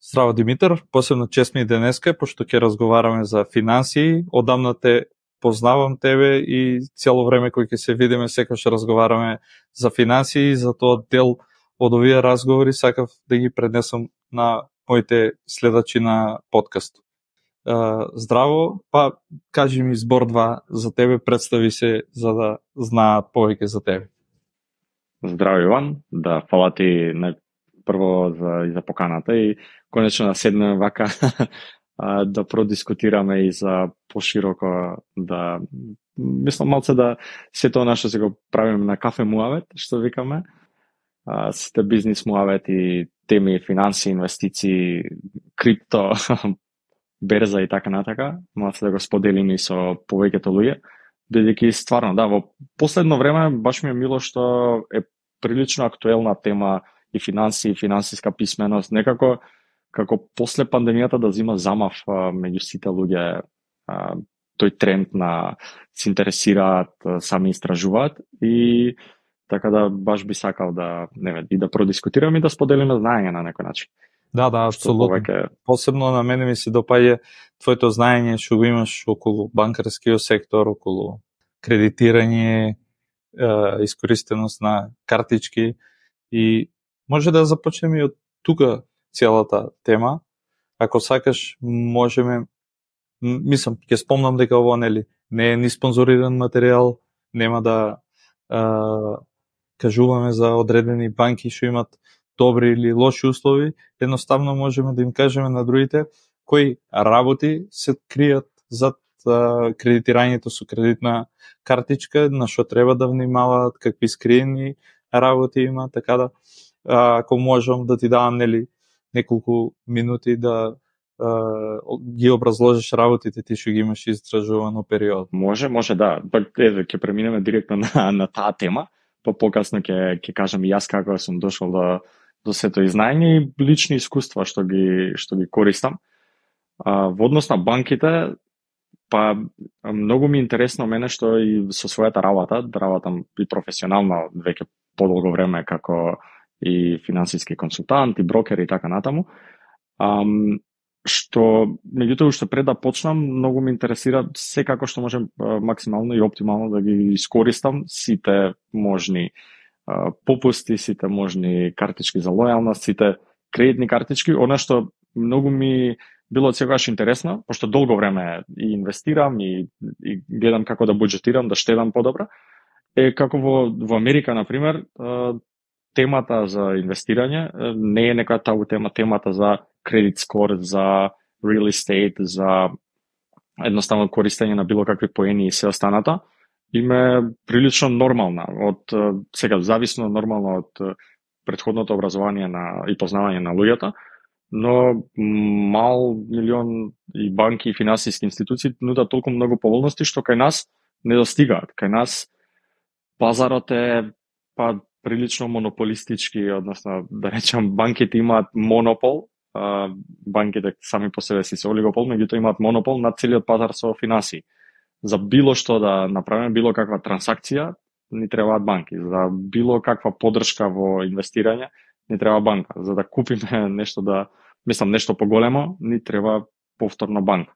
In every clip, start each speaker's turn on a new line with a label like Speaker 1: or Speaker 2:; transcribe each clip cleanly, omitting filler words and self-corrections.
Speaker 1: Здраво, Димитар, посебно чест ми денеска, пошто ќе разговараме за финансии. Одамна те познавам тебе и цело време кој ќе се видиме секогаш разговараме за финансии, за тоа дел од овие разговори сакав да ги пренесам на моите следачи на подкаст. Здраво, па кажи ми збор-два за тебе, представи се за да знаат повеќе за тебе.
Speaker 2: Здраво, Иван, да, фала ти прво за поканата и конечно да седнеме вака да продискутираме и за пошироко да мислам малце да се тоа наше се го правиме на кафе муавет, што викаме, сите бизнис муавет и теми финанси, инвестиции, крипто, берза и така натака, малце да го споделиме и со повеќето луѓе, бидејќи стварно да, во последно време баш ми е мило што е прилично актуелна тема и финанси, и финансиска писменост, некако како после пандемијата да зима замав меѓу сите луѓе, тој тренд на се интересираат, сами истражуваат и така да баш би сакал да и да продискутираме и да споделиме знаење на некој начин.
Speaker 1: Да, апсолутно. Посебно на мене ми се допаѓа твоето знаење што го имаш околу банкарскиот сектор, околу кредитирање, искористеност на картички и може да започнеме од тука целата тема. Ако сакаш, можеме, мислам, ќе спомнам дека ово не е ни спонзориран материјал, нема да кажуваме за одредени банки што имат добри или лоши услови, едноставно можеме да им кажеме на другите кои работи се кријат зад кредитирањето со кредитна картичка, на што треба да внимаваат, какви скриени работи има, така да ако можам да ти давам неколку минути да ги образложиш работите ти што ги имаш истражувано период.
Speaker 2: Може да. Пак ќе преминеме директно на таа тема, па покасно ќе кажам и јас како сум дошол до сето знаење и лични искуства што ги користам. Во однос на банките, па многу ми е интересно мене што и со својата работам и професионално веќе подолго време како и финансиски консултант и брокер и така натаму. Што меѓутоа што пред да почнам, многу ме интересира секако што можем максимално и оптимално да ги искористам сите можни попусти, сите можни картички за лојалност, сите кредитни картички, она што многу ми било секогаш интересно, пошто долго време и инвестирам и гледам како да буџетирам, да штедам подобро, е како во Америка, например, темата за инвестирање не е некоја табу тема, темата за кредит скор, за real estate, за едноставно користење на било какви поени и се останато, им е прилично нормална, од сега зависно нормално од претходното образование и познавање на луѓето, но мал милион и банки и финансиски институции нудат толку многу поволности што кај нас не достигаат. Кај нас пазарот е прилично монополистички, односно да речам банките имаат монопол, банките сами по себе си се олигопол, меѓутоа имаат монопол на целиот пазар со финансии. За било што да направиме, било каква трансакција, ни требаат банки. За било каква подршка во инвестирање, ни треба банка. За да купиме нешто поголемо, ни треба повторно банка.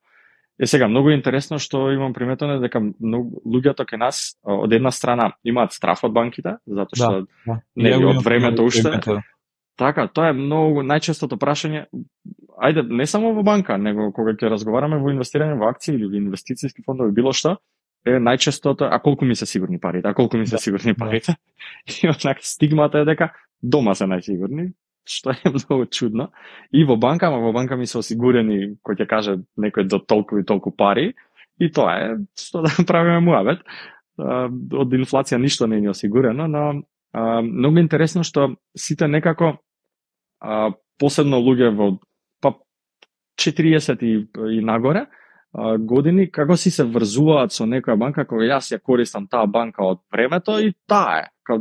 Speaker 2: Сега, многу е интересно што имам приметено дека луѓето кај нас од една страна имаат страф од банките, затоа што од времето уште. Така, тоа е многу најчестото прашање. Ајде, не само во банка, него кога ќе разговараме во инвестирање во акции или во инвестициски фондови, било што, е најчестото, а колку ми се сигурни парите, И однак стигмата е дека дома се најсигурни, што е многу чудно. И во банка ми се осигурени, кој ќе каже некој до толку и толку пари, и тоа е што да правиме муавет. Од инфлација ништо не е осигурено, но многу интересно што сите некако посебно луѓе во 40 и нагоре години, како си се врзуваат со некоја банка, кога јас ја користам таа банка од времето и таа е.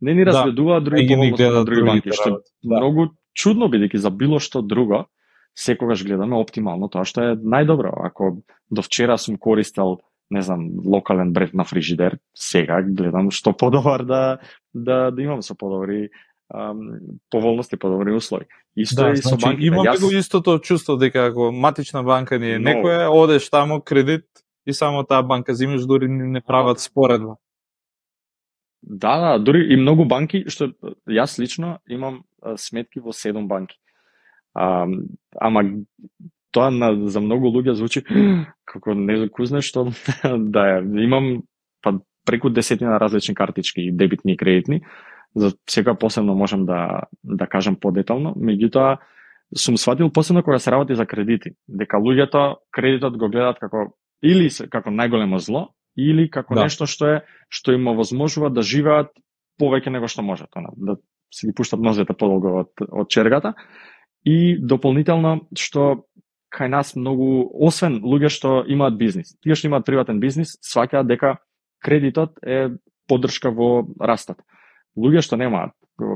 Speaker 2: Не ни разведуваат други поволности на други банки, што многу чудно, бидејќи за било што друго секогаш гледаме оптимално тоа што е најдобро. Ако до вчера сум користел, не знам, локален бренд на фрижидер, сега гледам што подобар да имам со подобри поволности, подобри услови. Исто
Speaker 1: Да,
Speaker 2: е и со
Speaker 1: значи
Speaker 2: банките.
Speaker 1: имаме го истото чувство дека ако матична банка ни е некоја, одеш таму кредит и само таа банка зимеш, дури не прават споредба.
Speaker 2: Да, дури и многу банки, што јас лично имам сметки во 7 банки. Ама тоа за многу луѓе звучи како некузне што да имам преку 10 различни картички, дебитни и кредитни. За секоја посебно можам да кажам подетално, меѓутоа сум сватил посебно кога се работи за кредити, дека луѓето кредитот го гледаат како или како најголемо зло, или како нешто што им овозможува да живеат повеќе него што можат, да си ги пуштат нозете подолго од чергата. И дополнително што кај нас многу, освен луѓе што имаат бизнис, тие што имаат приватен бизнис, сваќаат дека кредитот е поддршка во растот. Луѓе што немаат,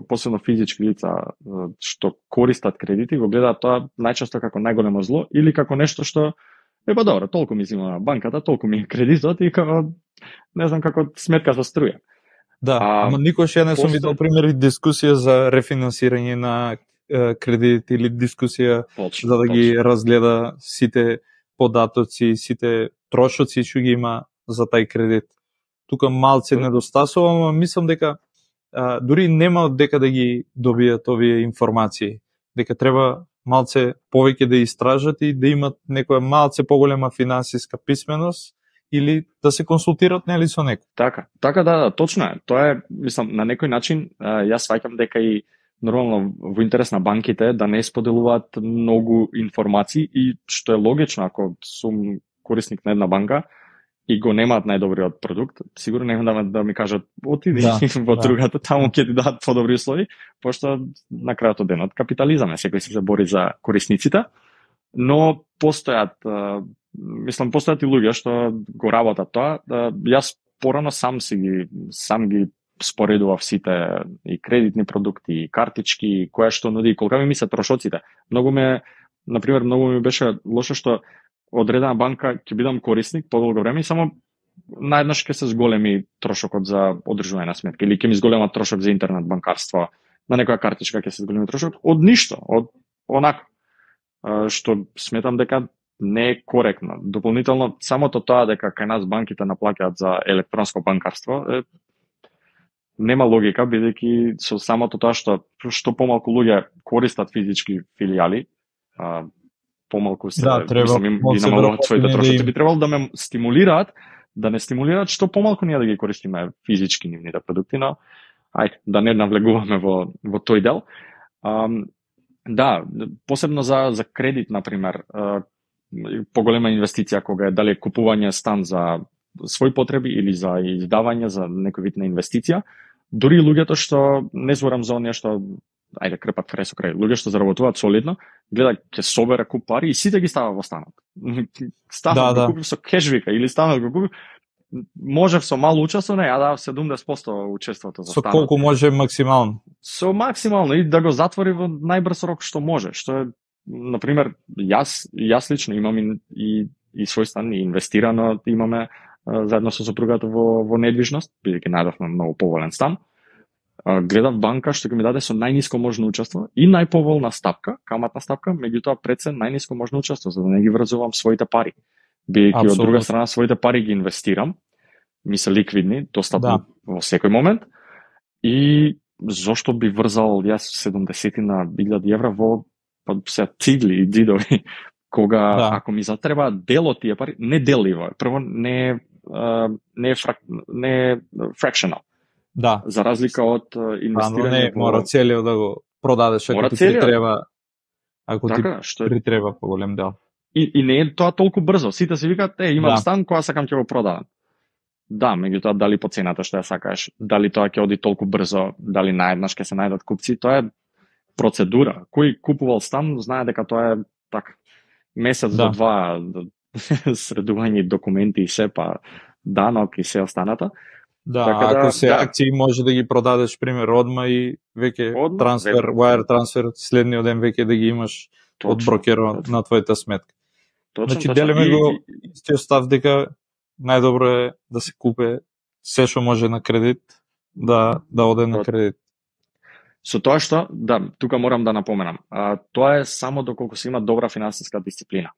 Speaker 2: посебно физички лица што користат кредити, го гледаат тоа најчесто како најголемо зло или како нешто што па добро, толку ми зима банката, толку ми е кредитот и како не знам како сметка за струја.
Speaker 1: Да, ама никош ја не сум видел примери дискусија за рефинансирање на кредит или дискусија за да ги разгледа сите податоци, сите трошоци што ги има за тај кредит. Тука малце недостасува, ама мислам дека дури нема од дека да ги добијат овие информации, дека треба малце повеќе да истражат и да имат некоја малце поголема финансиска писменост или да се консултират нели со некој.
Speaker 2: Така да, точно е. Тоа е, мислам, на некој начин јас сваќам дека и нормално во интерес на банките да не споделуваат многу информации и што е логично ако сум корисник на една банка и го немаат најдобриот продукт, сигурно нема да ми кажат отиди во другата, таму ќе ти дадат подобри услови, пошто на крајот од денот капитализам е, секој се бори за корисниците, но постојат и луѓе што го работат тоа. Јас порано сам ги споредував сите и кредитни продукти, и картички, која што нуди, колка ми се трошоците. Многу ми беше лошо што одредена банка ќе бидам корисник подолго време и само наеднаш ќе се зголеми трошокот за одржување на сметка или ќе ми зголема трошок за интернет банкарство, на некоја картичка ќе се зголеми трошок од ништо, од онака што сметам дека не е коректно. Дополнително самото тоа дека кај нас банките наплаќаат за електронско банкарство нема логика, бидејќи со самото тоа што помалку луѓе користат физички филијали, помалку се ги намалуваат своите трошоци, би требало да ме стимулираат, да не стимулираат што помалку ние да ги користиме физички нивните продукти, но ајде, да не навлегуваме во тој дел. Да, посебно за кредит, например, поголема инвестиција кога е дали купување стан за своји потреби или за издавање за некој вид на инвестиција, дури луѓето што не зборам за оние што крпат крај со крај, луѓе што заработуваат солидно, гледа ќе собере куп пари и сите ги става во станот. Станот го купив со кешвика или станот го купив, можев со мало учествување, да 70% учеството за станот.
Speaker 1: Со колку може максимално?
Speaker 2: Со максимално и да го затвори во најбрз рок што може, што е, например, јас лично имам и свој стан и инвестирано, имаме заедно со сопругата во недвижност, бидејќи најдовме многу поволен стан. Гледав банка што ќе ми даде со најниско можно учество и најповолна стапка, каматна стапка, меѓутоа пред се најниско можно учество, за да не ги врзувам своите пари. Бидејќи од друга страна своите пари ги инвестирам, ми се ликвидни, достапни во секој момент, и зошто би врзал јас 70.000 евра во се цигли и дзидови, кога ако ми затребаат дел од тие пари, не деливо, прво не е fractional.
Speaker 1: Да.
Speaker 2: За разлика од инвестирање
Speaker 1: мора целиот да го продадеш ако ти треба. Ако ти притреба поголем дел.
Speaker 2: И не е тоа толку брзо. Сите си викаат, имам стан, кога сакам ќе го продадам. Да, меѓутоа дали по цената што ја сакаш, дали тоа ќе оди толку брзо, дали наеднаш ќе се најдат купци, тоа е процедура. Кој купувал стан знае дека тоа е така месец до два средување документи и се, па данок и се останата.
Speaker 1: Да, ако се акции може да ги продадеш пример одма и веќе трансфер, wire трансфер следниот ден веќе да ги имаш од брокерот на твојата сметка. Значи делиме го истиот став дека најдобро е да се купе се што може на кредит, да оде на кредит.
Speaker 2: Со тоа што, да, тука морам да напоменам, тоа е само доколку се има добра финансиска дисциплина.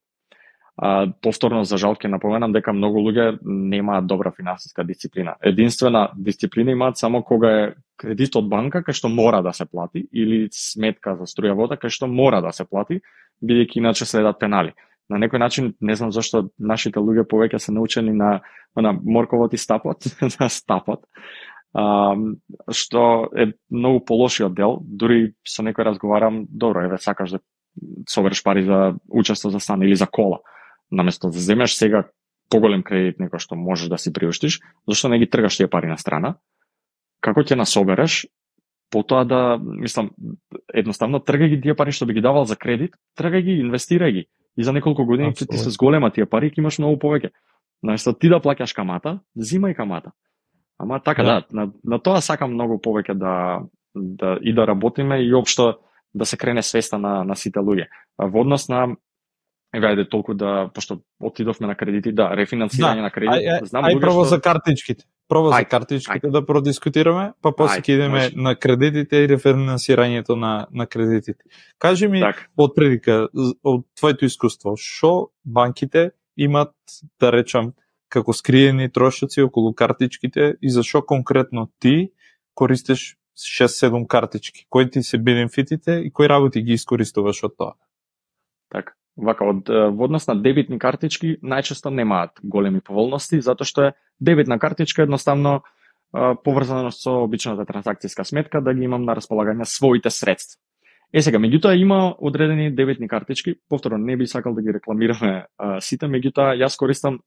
Speaker 2: Повторно, за жал, ќе напоменам дека многу луѓе немаат добра финансиска дисциплина. Единствена дисциплина имаат само кога е кредит од банка кај што мора да се плати или сметка за струја вода кај што мора да се плати, бидејќи иначе следат пенали. На некој начин, не знам зашто нашите луѓе повеќе се научени на морковот и стапот, на стапот, што е многу полошиот дел. Дури со некој разговарам, добро, еве сакаш да собереш пари за учество за стан или за кола, наместо да земеш сега поголем кредит некој што можеш да си приуштиш, зашто не ги тргаш тие пари на страна? Како ќе насобереш? Потоа да, мислам, едноставно тргај ги тие пари што би ги давал за кредит, тргај ги, инвестирај ги. И за неколку години ќе ти се зголема тие пари и ќе имаш многу повеќе. Наместо ти да плаќаш камата, зимај камата. Ама така да, на тоа сакам многу повеќе да работиме и општо да се крене свеста на сите луѓе. Во однос на ајде толку да, пошто отидовме на кредити, да, рефинансирање на кредити, знам луѓе
Speaker 1: прво
Speaker 2: што
Speaker 1: за картичките. За картичките да продискутираме, па после ќе идеме на кредитите и рефинансирањето на кредитите. Кажи ми од предика, од твоето искуство, што банките имат, да речам, како скриени трошоци околу картичките и зашо конкретно ти користиш 6-7 картички? Кои ти се бенефитите и кои работи ги искористуваш од тоа?
Speaker 2: Така. Вака, во однос на дебитни картички најчесто немаат големи поволности, затоа што е дебитна картичка едноставно поврзана со обичната транзакцијска сметка да ги имам на располагање своите средства. Сега, меѓутоа има одредени дебитни картички, повторно не би сакал да ги рекламираме сите, меѓутоа јас користам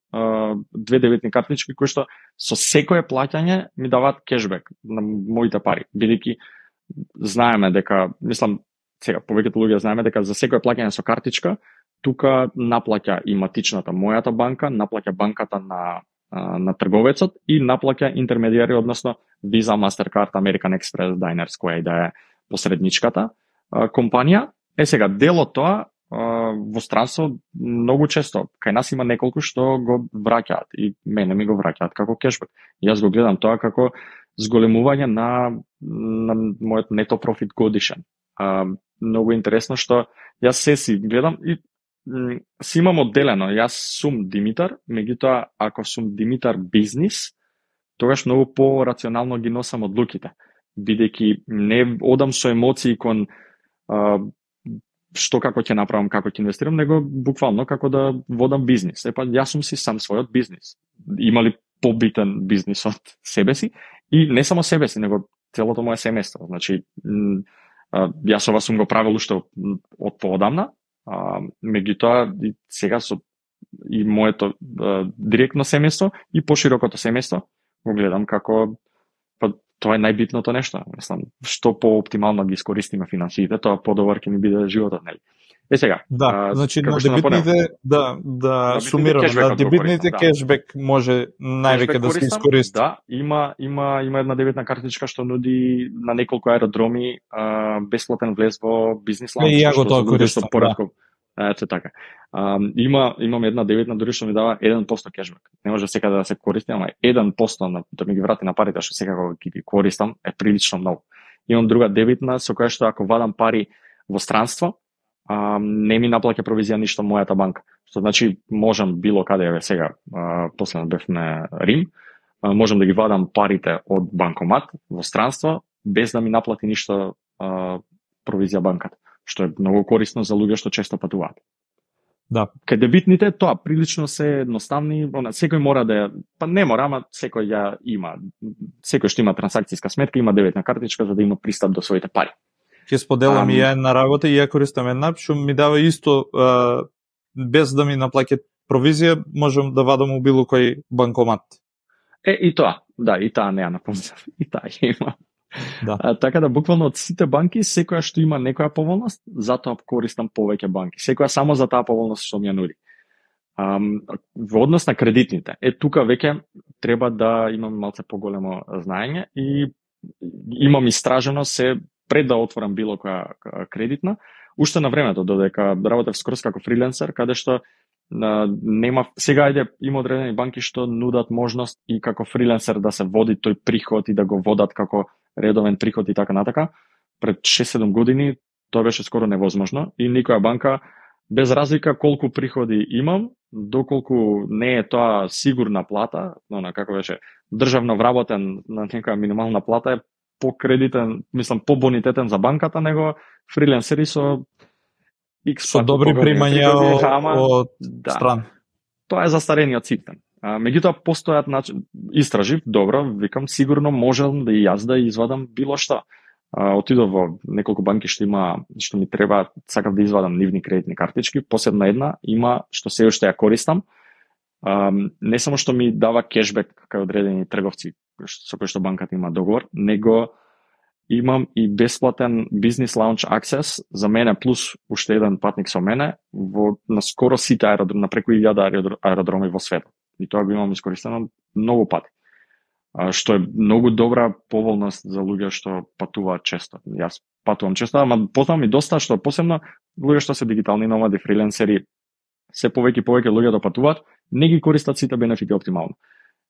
Speaker 2: две дебитни картички кои што со секое плаќање ми даваат кешбек на моите пари, бидејќи знаеме дека, мислам, сега повеќето луѓе знаеме дека за секое плаќање со картичка, тука наплаќа и матичната мојата банка, наплаќа банката на трговецот и наплаќа интермедијари, односно Visa, Mastercard, American Express, Diners, која и да е посредничката компанија. Сега, дел од тоа во странство многу често, кај нас има неколку што го враќаат и мене ми го враќаат како кешбек. Јас го гледам тоа како зголемување на мојот нето профит годишен. Многу интересно што јас се си гледам и си имам одделено, јас сум Димитар, меѓутоа ако сум Димитар бизнис, тогаш многу по-рационално ги носам одлуките, бидејќи не одам со емоции кон што како ќе направам, како ќе инвестирам, него буквално како да водам бизнис. Епа, јас сум си сам својот бизнис. Има ли побитен бизнис од себе си? И не само себе си, него целото моје семејство. Значи, јас ова сум го правил уште од поодамна, меѓутоа сега со и моето директно семејство и поширокото семејство го гледам како тоа е најбитното нешто. Мислам, што по-оптимално ги искористиме финансиите, тоа подобар ќе ни биде животот, нели? Сега.
Speaker 1: Да, значи на дебитните да сумираме, на дебитните кешбек може највеќе да се искористи.
Speaker 2: Да, има една дебитна картичка што нуди на неколку аеродроми бесплатен влез во бизнис лаунч.
Speaker 1: И ја го тоа користам.
Speaker 2: Ето така. Имам една дебитна дури што ми дава 1% кешбек. Не може секаде да се користи, ама 1% да ми ги врати на парите што секако ги користам е прилично многу. Имам друга дебитна со која што ако вадам пари во странство, не ми наплаќа провизија ништо мојата банка. Што значи можам било каде еве сега, последно бевме Рим, можам да ги вадам парите од банкомат во странство без да ми наплати ништо провизија банката, што е многу корисно за луѓе што често патуваат.
Speaker 1: Да.
Speaker 2: Кај дебитните тоа прилично се едноставни, секој мора да па не мора, ама секој ја има. Секој што има трансакцијска сметка има дебитна картичка за да има пристап до своите пари.
Speaker 1: Ќе споделам и ја една работа и ја користам една, што ми дава исто без да ми наплаќат провизија, можам да вадам у било кој банкомат.
Speaker 2: И тоа, да, и таа не ја напомнав, и таа има.
Speaker 1: Да.
Speaker 2: Така да буквално од сите банки секоја што има некоја поволност, затоа користам повеќе банки. Секоја само за таа поволност што ми ја нуди. Во однос на кредитните, тука веќе треба да имам малце поголемо знаење и имам истражено се пред да отворам било која кредитна, уште на времето додека работев скрос како фриленсер, каде што нема сега има одредени банки што нудат можност и како фриленсер да се води тој приход и да го водат како редовен приход и така натака. Пред 6-7 години тоа беше скоро невозможно и никоја банка, без разлика колку приходи имам, доколку не е тоа сигурна плата, но како беше државно вработен на некоја минимална плата е покредитен, мислам побонитетен за банката него фриленсери со
Speaker 1: со добри примања од стран.
Speaker 2: Тоа е застарениот систем. Меѓутоа постојат истражив, добро, викам сигурно можам да и јас да извадам било што. Отидов во неколку банки што ми треба, сакав да извадам нивни кредитни картички, посебно една има што се уште ја користам. Не само што ми дава кешбек кај одредени трговци со кои што банката има договор, него имам и бесплатен бизнес лаунч аксес за мене плюс уште еден патник со мене на скоро сите аеродроми, на преку 1000 аеродроми во светот. И тоа го имам искористено многу пати. Што е многу добра поволност за луѓе што патуваат често. Јас патувам често, ама познавам и доста што посебно луѓе што се дигитални номади, фриленсери, се повеќе и повеќе луѓе да патуваат, не ги користат сите бенефити оптимално.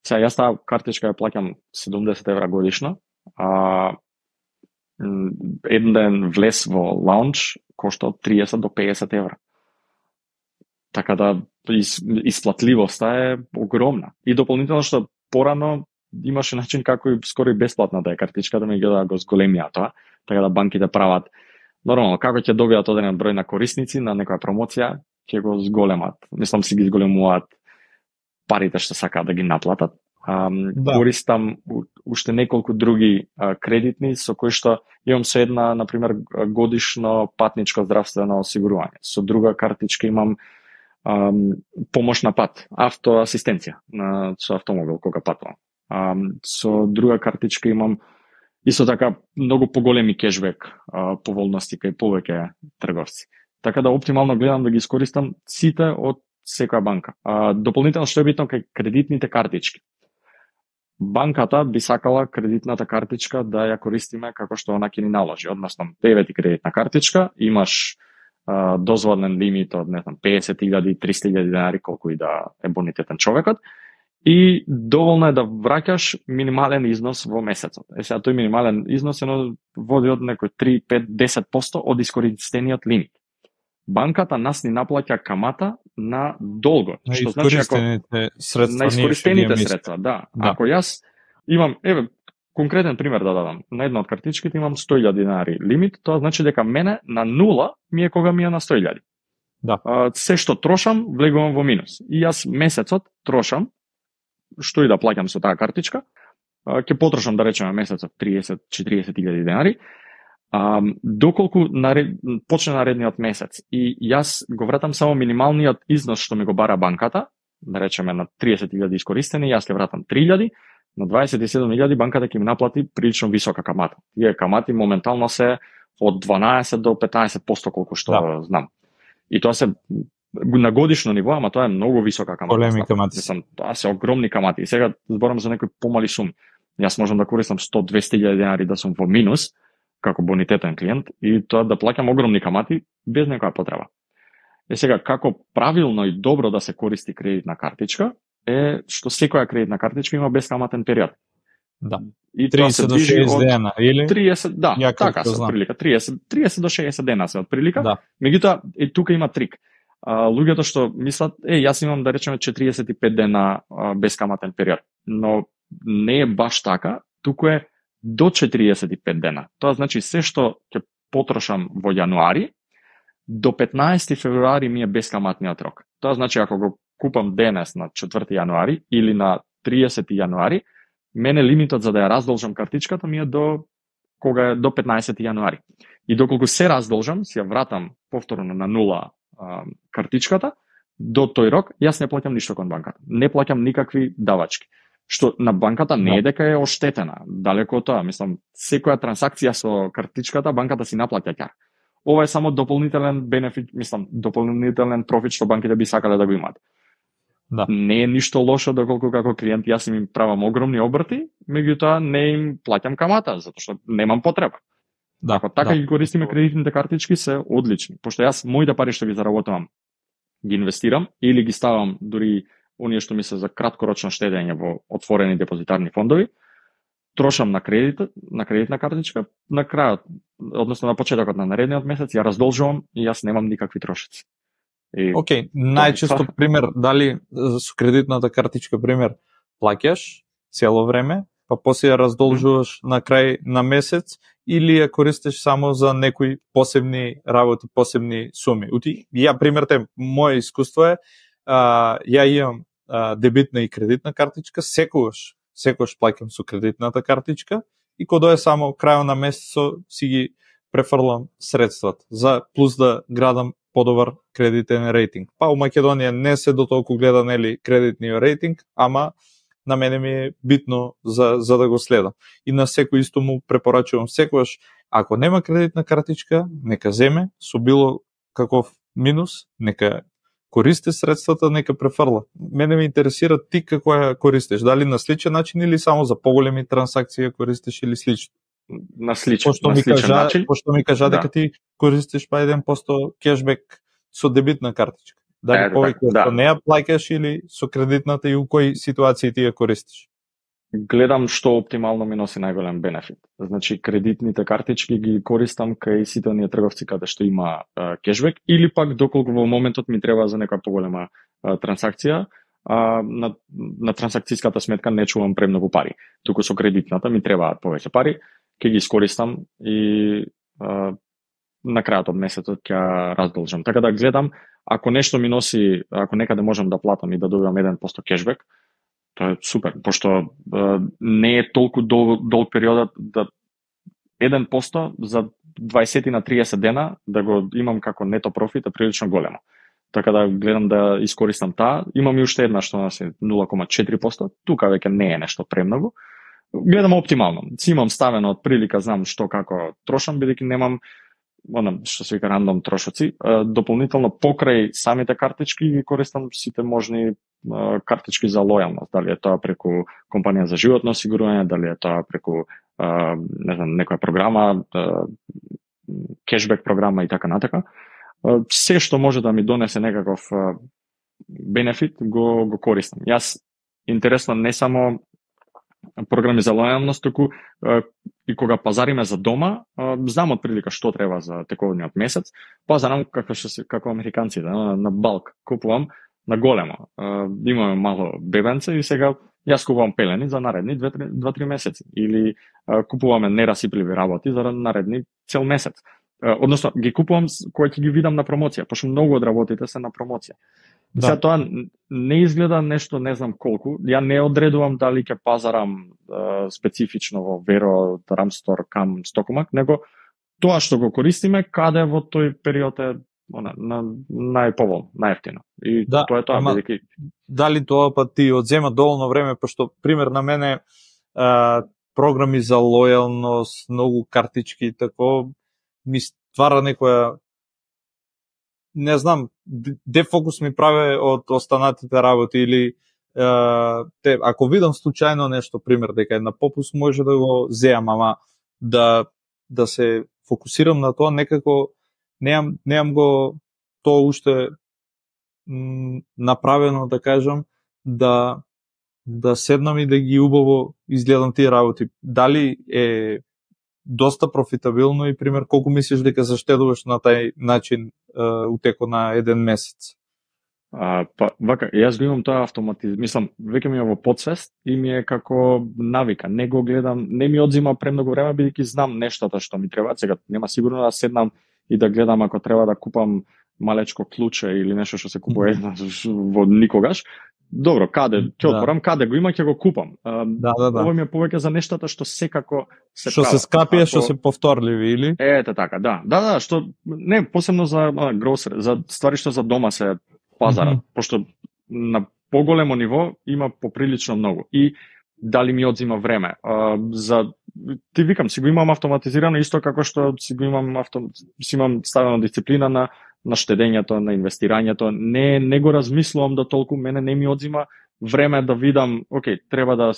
Speaker 2: Сега јас таа картичка ја плаќам 70 евра годишно, еден ден влез во лаунч кошта од 30 до 50 евра. Така да исплатливоста е огромна. И дополнително што порано имаше начин како и скоро и бесплатна да е картичката, ми да го зголемија тоа, така да банките прават нормално како ќе добијат одреден број на корисници на некоја промоција, ќе го зголемат. Мислам си ги зголемуваат парите што сакаат да ги наплатат. Користам уште неколку други кредитни со кои што имам со една, например, годишно патничко здравствено осигурување. Со друга картичка имам помош на пат, автоасистенција со автомобил кога патувам. Со друга картичка имам исто така многу поголеми кешбек поволности кај повеќе трговци. Така да оптимално гледам да ги искористам сите од секоја банка. Дополнително што е битно кај кредитните картички. Банката би сакала кредитната картичка да ја користиме како што она ќе ни наложи, односно деве ти кредитна картичка, имаш дозволен лимит од 50.000, 300.000 денари, колку и да е бонитетен човекот, и доволно е да враќаш минимален износ во месецот. Сега тој минимален износ води од некој 3, 5, 10% од искористениот лимит. Банката нас ни наплаќа камата на долго, што значи ако на искористените средства, да. Ако јас имам, конкретен пример да дадам, на една од картичките имам 100.000 денари лимит, тоа значи дека мене на нула ми е кога ми е на 100.000.
Speaker 1: Да.
Speaker 2: Се што трошам, влегувам во минус. И јас месецот трошам, што и да плаќам со таа картичка, ќе потрошам, да речеме, месецот 30-40.000 денари, доколку почне наредниот месец и јас го вратам само минималниот износ што ми го бара банката, да речеме на 30.000 искористени, јас ќе вратам 3.000, на 27.000 банката ќе ми наплати прилично висока камата. Тие камати моментално се од 12 до 15% колку што знам. И тоа се на годишно ниво, ама тоа е многу висока камата.
Speaker 1: Големи камати.
Speaker 2: Тоа се огромни камати. И сега зборам за некои помали суми. Јас можам да користам 100-200.000 денари да сум во минус како бонитетен клиент и тоа да плаќам огромни камати без некоја потреба. Сега како правилно и добро да се користи кредитна картичка е што секоја кредитна картичка има бескаматен период.
Speaker 1: Да.
Speaker 2: И
Speaker 1: 30 до 60 дена или
Speaker 2: 30, да, така се отприлика, 30 до 60 дена се отприлика.
Speaker 1: Да.
Speaker 2: Меѓутоа и тука има трик. Луѓето што мислат, јас имам да речеме 45 дена бескаматен период, но не е баш така, туку е до 45 дена. Тоа значи се што ќе потрошам во јануари, до 15 февруари ми е бескаматниот рок. Тоа значи ако го купам денес на 4 јануари или на 30 јануари, мене лимитот за да ја раздолжам картичката ми е до 15 јануари. И доколку се раздолжам, си ја вратам повторно на нула картичката, до тој рок јас не плаќам ништо кон банката. Не плаќам никакви давачки. Што на банката не е дека е оштетена, далеко од тоа. Мислам, секоја трансакција со картичката банката си наплаќа ќар. Ова е само дополнителен бенефит, мислам, дополнителен профит што банките би сакале да го имаат.
Speaker 1: Да.
Speaker 2: Не е ништо лошо доколку како клиент јас им правам огромни обрти, меѓутоа не им плаќам камата, затоа што немам потреба.
Speaker 1: Да,
Speaker 2: ако така ги користиме кредитните картички се одлични, пошто јас моите пари што ги заработувам ги инвестирам или ги ставам дури оние што ми се за краткорочно штедење во отворени депозитарни фондови, трошам на кредитна картичка, на крајот, односно на почетокот на наредниот месец ја раздолжувам и јас немам никакви трошици.
Speaker 1: Океј, најчесто пример, дали со кредитната картичка пример плаќаш цело време, па после ја раздолжуваш на крај на месец или ја користиш само за некои посебни работи, посебни суми. Ја пример моје искуство е, ја имам дебитна и кредитна картичка, секогаш плаќам со кредитната картичка и кога дое само крајот на месецот си ги префрлам средствата за плюс да градам подобар кредитен рейтинг. Па у Македонија не се до толку гледа нели кредитниот рейтинг, ама на мене ми е битно за да го следам. И на секој исто му препорачувам секогаш, ако нема кредитна картичка, нека земе со било каков минус, нека користи средствата, нека префрла. Мене ме интересира ти како ја користиш, дали на сличен начин или само за поголеми трансакции ја користиш или слично?
Speaker 2: На сличен
Speaker 1: начин. Пошто ми кажа дека ти користиш па 1% кешбек со дебитна картичка. Дали повеќе со неа плаќаш или со кредитната и у кои ситуации ти ја користиш?
Speaker 2: Гледам што оптимално ми носи најголем бенефит. Значи, кредитните картички ги користам кај сите оние трговци каде што има кешбек или пак доколку во моментот ми треба за некоја поголема трансакција, на трансакцијската сметка не чувам премногу пари. Туку со кредитната ми требаат повеќе пари, ќе ги искористам и на крајот од месецот ќе раздолжам. Така да гледам, ако нешто ми носи, ако некаде можам да платам и да добивам 1% кешбек, тоа е супер, пошто не е толку долг периодот да 1% за 20 на 30 дена да го имам како нето профит е прилично големо. Така да гледам да искористам таа. Имам и уште една што носи 0,4%, тука веќе не е нешто премногу. Гледам оптимално. Си имам ставено од прилика, знам што како трошам, бидејќи немам што се вика рандом трошоци. Дополнително покрај самите картички ги користам сите можни картички за лојалност, дали е тоа преку компанија за животно осигурување, дали е тоа преку не знам, некоја програма, кешбек програма и така натака. Се што може да ми донесе некаков бенефит го користам. Јас интересно не само програми за лојалност, туку и кога пазариме за дома, знам од прилика што треба за тековниот месец, пазарам како американците, на балк купувам на големо. Имаме мало бебенце и сега јас купувам пелени за наредни 2-3 месеци или купуваме нерасипливи работи за наредни цел месец. Односно ги купувам кога ќе ги видам на промоција, пошто многу од работите се на промоција. Да. Сега тоа не изгледа нешто не знам колку. Ја не одредувам дали ќе пазарам специфично во Веро, Рамстор, Кам, Стокомак, него тоа што го користиме каде во тој период е на најповолно, најевтино. И да, тоа е тоа, бидејќи
Speaker 1: дали тоа па ти одзема доволно време, пошто пример на мене програми за лојалност, многу картички и тако ми ствара некоја, не знам, дефокус ми прави од останатите работи или ако видам случајно нешто, пример, дека е на попус, може да го зеам, ама да се фокусирам на тоа, некако неам го тоа уште направено, да кажам, да седнам и да ги убаво изгледам тие работи. Дали е доста профитабилно и пример колку мислиш дека заштедуваш на тај начин утеко на еден месец?
Speaker 2: Па вака, јас го имам тоа автоматизм, мислам, веќе ми е во подсвест и ми е како навика. Не го гледам, не ми одзима премногу време бидејќи знам нештата што ми требаат. Сега нема сигурно да седнам и да гледам ако треба да купам малечко клуче или нешто што се купува во никогаш. Добро, каде ќе отворам, каде го има ќе го купам. Ова ми е повеќе за нештата што секако се
Speaker 1: прават. Што се скапија, што се повторливи или?
Speaker 2: Ете така, да, што не посебно за гросер, за ствари што за дома се пазарат, пошто на поголемо ниво има поприлично многу. И дали ми одзима време. Ти викам, си го имам автоматизирано исто како што си имам ставено дисциплина на штедењето, на инвестирањето. Не го размислувам до толку, мене не ми одзима време да видам, окей, треба да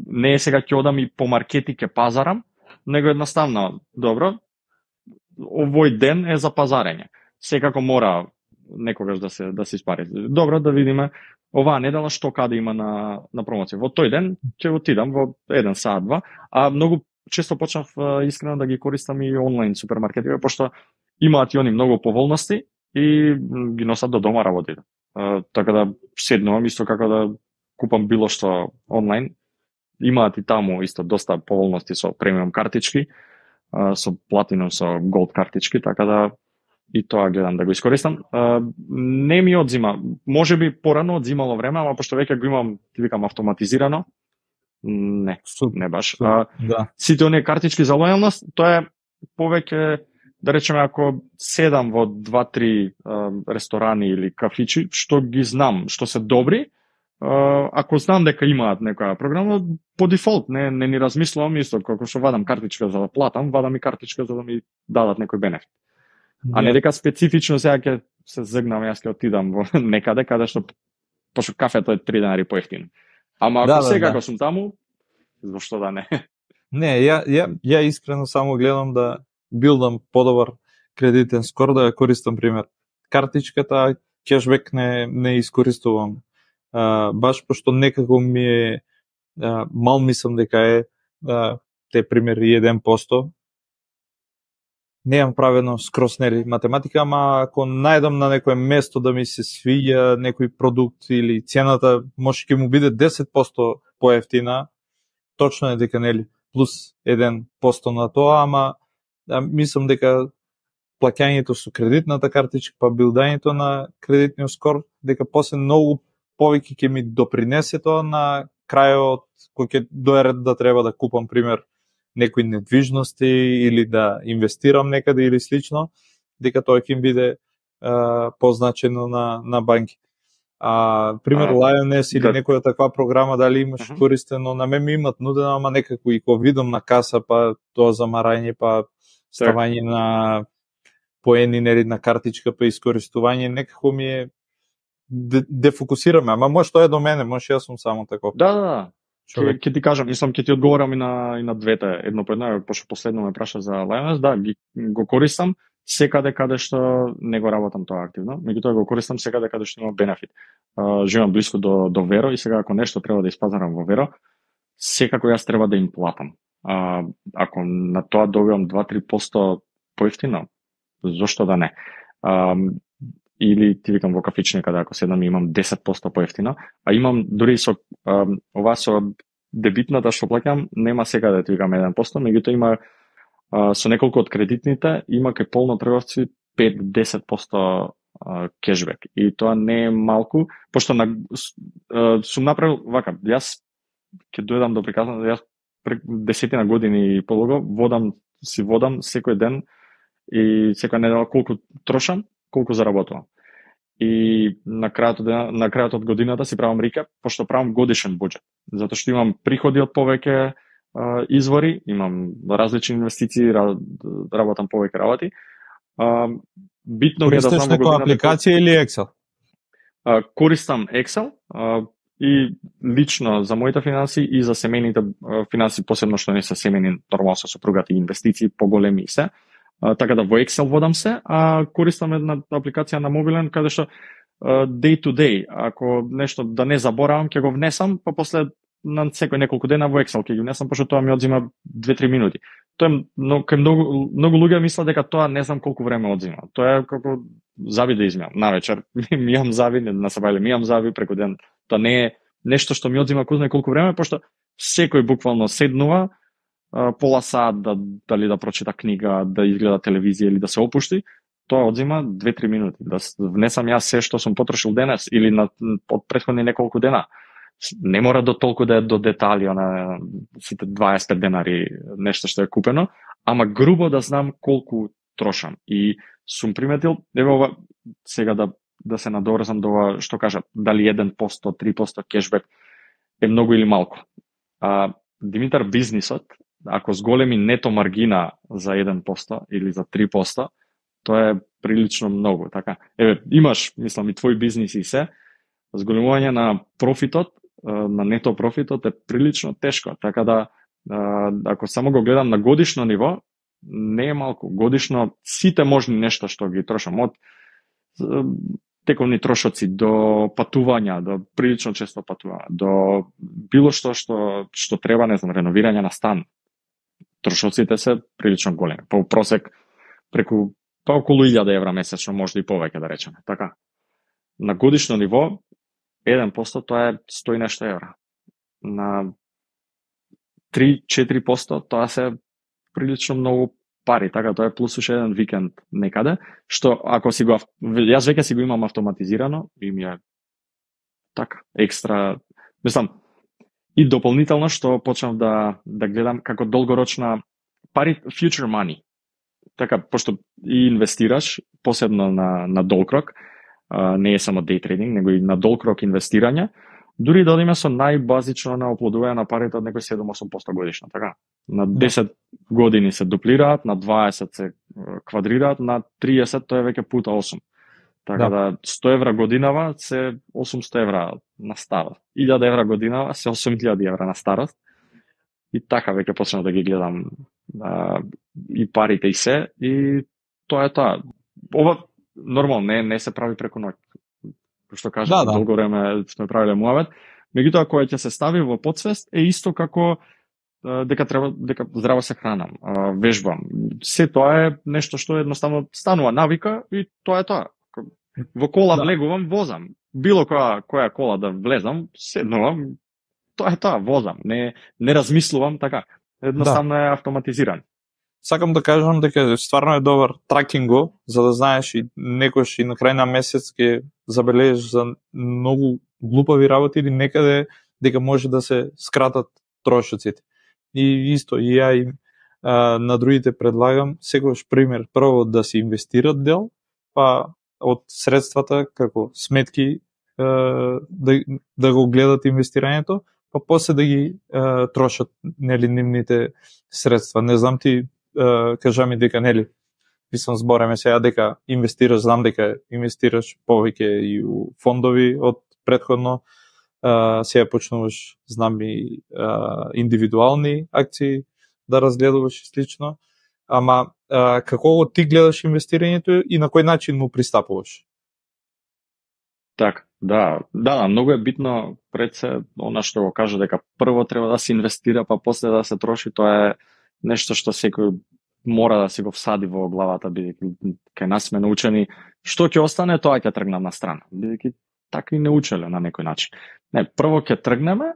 Speaker 2: не е сега ќе одам и по маркети ќе пазарам, него едноставно, добро, овој ден е за пазарење. Секако мора некогаш да се испари. Добро, да видиме оваа недела што каде има на промоција. Во тој ден ќе отидам во 1 саат, 2, а многу често почнав искрено да ги користам и онлайн супермаркетите, пошто имаат и они многу поволности и ги носат до дома работите. Така да седнувам исто како да купам било што онлайн. Имаат и таму исто доста поволности со премиум картички, со платинум, со голд картички, така да и тоа гледам да го искористам. Не ми одзима, можеби порано одзимало време, ама пошто веќе го имам, ти викам, автоматизирано, не баш.
Speaker 1: Да.
Speaker 2: Сите оние картички за лојалност, тоа е повеќе, да речеме, ако седам во 2-3 ресторани или кафичи, што ги знам, што се добри, ако знам дека имаат некоја програма, по дефолт не ни размислувам исто, како што вадам картичка за да платам, вадам и картичка за да ми дадат некој бенефит. А не дека специфично сега ќе се згнам, јас ќе отидам во некаде каде што пошто кафето е 3 денари поевтино. Ама ако секако сум таму, зошто да не?
Speaker 1: Не, ја искрено само гледам да билдам подобар кредитен скор, да ја користам пример. Картичката, кешбек не искористувам. Баш пошто некако ми е мал мислам дека е те пример 1%. Неам правено скрос нели математика, ама ако најдам на некое место да ми се свиѓа некој продукт или цената може ќе му биде 10% поевтина, точно е дека нели плюс 1% на тоа, ама мислам дека плаќањето со кредитната картичка, па билдањето на кредитниот скор, дека после многу повеќе ќе ми допринесе тоа на крајот кој ќе дое ред да треба да купам пример некои недвижности или да инвестирам некаде или слично, дека тоа ќе им биде позначено на банки. Пример Lioness или некоја таква програма, дали имаш користено, на мен ми имат нудено, ама некако и кога видам на каса, па тоа замарање, па ставање на поени нели на картичка, па искористување, некако ми е дефокусираме, ама може тоа е до мене, може јас сум само таков.
Speaker 2: Да. Ќе ти кажам, мислам ќе ти одговорам и на двете, едно по едно, пошто последно ме праша за Lioness, да, го користам секаде каде што не го работам тоа активно, меѓутоа го користам секаде каде што има бенефит. Живеам блиску до Веро и сега ако нешто треба да испазарам во Веро, секако јас треба да им платам. Ако на тоа добивам 2-3% поевтино, зошто да не? Или ти викам во кафич некаде, ако седам имам 10% поевтино, а имам дури со ова со дебитната што плаќам, нема секаде ти викам 1%, меѓутоа има со неколку од кредитните, има кај полно трговци 5-10% кешбек. И тоа не е малку, пошто сум направил вака, јас ќе дојдам до приказна, јас 10 години и полуго водам секој ден и секоја недела колку трошам, колку заработувам. И на крајот од годината си правам рекап, пошто правам годишен буџет, затоа што имам приходи од повеќе извори, имам различни инвестиции, работам повеќе работи. Битно е да знам
Speaker 1: некоја апликација или Excel?
Speaker 2: Користам Excel и лично за моите финанси и за семејните финанси, посебно што не се семејни, нормално со сопругата и инвестиции поголеми и се. Така да во Excel водам се, а користам една апликација на мобилен каде што day to day, ако нешто да не заборавам, ќе го внесам, па после на секој неколку дена во Excel ќе ги внесам, пошто тоа ми одзима 2-3 минути. Тоа е многу луѓе мислат дека тоа не знам колку време одзима. Тоа е како зави да измијам. Навечер ми имам зави, на сабајле ми имам зави преку ден. Тоа не е нешто што ми одзима кој знае колку време, пошто секој буквално седнува пола сат дали да прочита книга, да изгледа телевизија или да се опушти, тоа одзима 2-3 минути. Да внесам јас се што сум потрошил денес или од претходни неколку дена. Не мора до толку да е до детали, на сите 25 денари нешто што е купено, ама грубо да знам колку трошам. И сум приметил, еве ова, сега да се надорзам до ова што кажа, дали 1%, 3% кешбек е многу или малку. Димитар, бизнисот, ако зголеми нето маргина за 1% или за 3%, тоа е прилично многу, така. Еве, имаш, мислам, и твој бизнис и се, зголемување на профитот, на нето профитот е прилично тешко, така да ако само го гледам на годишно ниво, не е малку. Годишно сите можни нешта што ги трошам, од тековни трошоци, до патувања, до прилично често патување, до било што треба, не знам, реновирање на стан. Трошоците се прилично големи. По просек преку околу 1000 евра месечно, може и повеќе да речеме. Така. На годишно ниво 1% тоа е 100 и нешто евра. На 3-4% тоа се прилично многу пари, така тоа е плюс уште еден викенд некаде, што ако си го јас веќе си го имам автоматизирано и ми е така екстра, мислам, и дополнително што почнав да гледам како долгорочна пари, future money. Така, пошто и инвестираш, посебно на долгрок, не е само day trading, него и на долгрок инвестирање, дури да одиме со најбазично на оплодување на парите од некој 7-8% годишно, така. На 10 години се дуплираат, на 20 се квадрираат, на 30 тоа е веќе пута 8. Така да 100 евра годинава се 800 евра на старост. 1000 евра годинава се 8000 евра на старост. И така веќе почнав да ги гледам и парите и се, и тоа е тоа. Ова нормално не се прави преку ноќ. Што кажа, долго време сме правиле муавет, меѓутоа кога ќе се стави во подсвест е исто како дека здраво се хранам, вежбам. Се тоа е нешто што едноставно станува навика и тоа е тоа. Во кола влегувам, возам. Било која кола да влезам, седнувам, тоа е тоа, возам. Не размислувам така. Едноставно е автоматизиран.
Speaker 1: Сакам да кажам дека стварно е добар тракинго, за да знаеш и некош и на крај на месец ќе забележиш за многу глупави работи или некаде дека може да се скратат трошоците. И исто, и ја и на другите предлагам, секојаш пример, прво да се инвестират дел, па од средствата како сметки да го гледат инвестирањето, па после да ги трошат нели нивните средства. Не знам ти кажа ми дека нели мислам збореме сега дека инвестираш, знам дека инвестираш повеќе и у фондови од претходно, сега почнуваш, знам и индивидуални акции да разгледуваш и слично, ама како ти гледаш инвестирањето и на кој начин му пристапуваш?
Speaker 2: Така, да, многу е битно пред се она што го кажа дека прво треба да се инвестира, па после да се троши, тоа е нешто што секој мора да си го всади во главата, бидејќи кај нас сме научени што ќе остане, тоа ќе тргнам на страна, бидејќи така и не учеле на некој начин. Не, прво ќе тргнеме,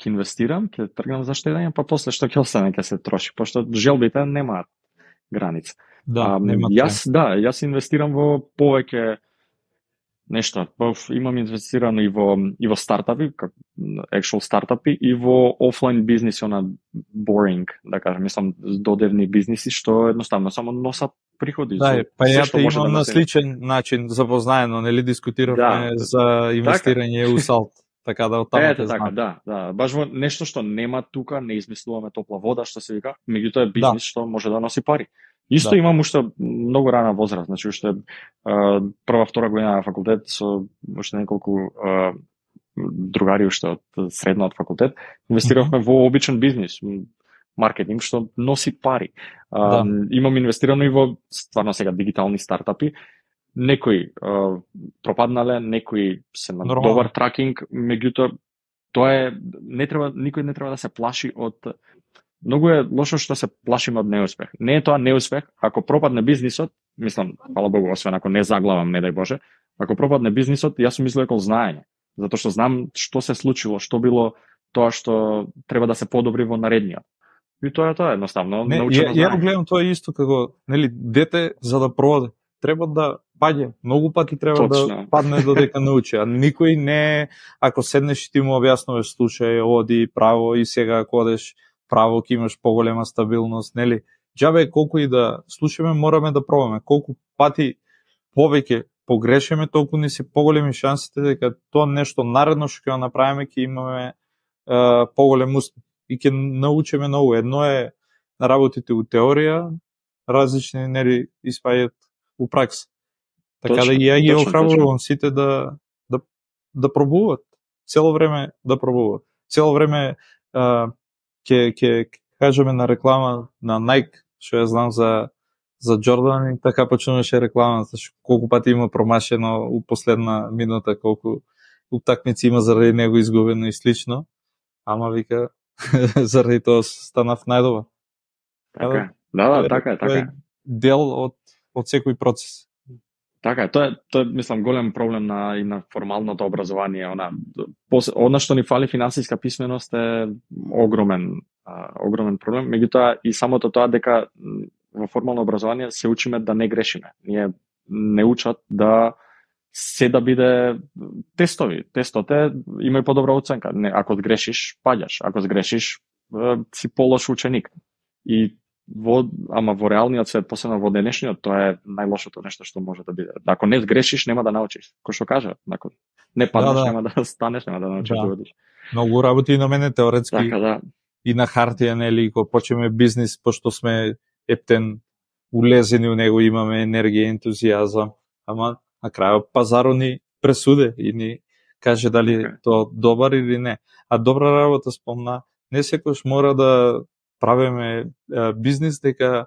Speaker 2: ќе инвестирам, ќе тргнам за штедење, па после што ќе остане ќе се троши, пошто желбите немаат граница. Јас инвестирам во повеќе нешто. Имам инвестирано и во стартапи, actual стартапи, и во офлайн бизниси, она boring, да кажем, мислам додевни бизниси што едноставно само носат приходи.
Speaker 1: Да, па ја имам на сличен начин запознаено, нели дискутиравме за инвестирање у салт. Така да оттаму те знам.
Speaker 2: Да, баш во нешто што нема тука, не измислуваме топла вода, што се вика, меѓутоа е бизнис што може да носи пари. Исто имам уште многу рана возраст, значи уште прва, втора година на факултет со уште неколку другари уште од средно од факултет, инвестиравме во обичен бизнис, маркетинг што носи пари. Имам инвестирано и во стварно сега дигитални стартапи. Некои пропаднале, некои се на добар тракинг, меѓутоа тоа е никој не треба да се плаши од. Многу е лошо што се плашиме од неуспех. Не е тоа неуспех, ако пропадне бизнисот, мислам, фала Богу, освен ако не заглавам, не дај Боже, ако пропадне бизнисот, јас сум мислел дека знаење, затоа што знам што се случило, што било тоа што треба да се подобри во наредниот. И тоа е едноставно, научено знаење.
Speaker 1: Ја гледам тоа исто како, нели, дете за да проде, треба да паѓа, многу пати треба да падне додека научи, а никој не, ако седнеш и ти му објаснуваш, слушај, оди право и сега ако одеш право ќе имаш поголема стабилност, нели? Џабе колку и да слушаме, мораме да пробаме. Колку пати повеќе погрешиме, толку ни се поголеми шансите дека тоа нешто наредно што ќе го направиме ќе имаме поголем успех и ќе научиме ново. Едно е работите у теорија, различни нели испаѓаат у пракса. Така да ја ги охрабрувам сите да пробуваат. Цело време да пробуваат. Цело време ќе кажеме на реклама на Nike, што ја знам за за Джордан и така почнуваше рекламата, колку пати има промашено у последна минута, колку утакмици има заради него изгубено и слично, ама вика заради тоа станав најдобар.
Speaker 2: Така е. Така е.
Speaker 1: Дел од секој процес.
Speaker 2: Така е, тоа мислам голем проблем и на формалното образование, она што ни фали финансиска писменост е огромен проблем, меѓутоа и самото тоа дека во формално образование се учиме да не грешиме. Ние не учат да биде тестови. Тестоте има и подобра оценка. Ако грешиш, паѓаш. Ако сгрешиш, си полош ученик. И ама во реалниот свет, посебно во денешниот, тоа е најлошото нешто што може да биде. Ако не сгрешиш, нема да научиш. Кој што кажа, ако не паднеш, нема да станеш, нема да научиш да водиш.
Speaker 1: Многу работи на мене теоретски.
Speaker 2: Така,
Speaker 1: и на хартија, нели, кога почнеме бизнис, пошто сме ептен улезени у него, имаме енергија, ентузијазам, ама на крајот пазарот ни пресуде и ни каже дали тоа добар или не. А добра работа спомна, не секојаш мора да правиме бизнис дека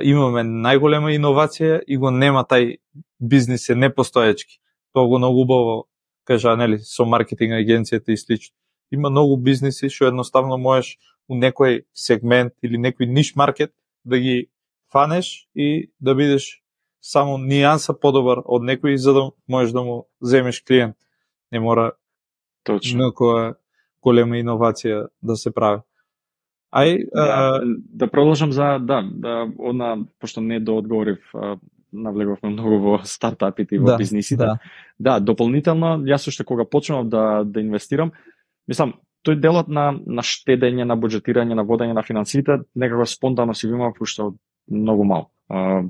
Speaker 1: имаме најголема иновација и го нема тај бизнис е непостоечки. Тоа го многу убаво кажа, нели, со маркетинг агенцијата и слично. Има многу бизниси што едноставно можеш у некој сегмент или некој ниш маркет да ги фанеш и да бидеш само нијанса подобар од некој за да можеш да му земеш клиент. Не мора
Speaker 2: точно
Speaker 1: некоја голема иновација да се прави.
Speaker 2: Да продолжам за пошто не доодговорив, навлеговме многу во стартапите и во бизнисите. Да, дополнително, јас уште кога почнав да инвестирам, мислам, тој делот на штедење, на буџетирање, на водење на финансиите, некако спонтано си го имав уште многу мал.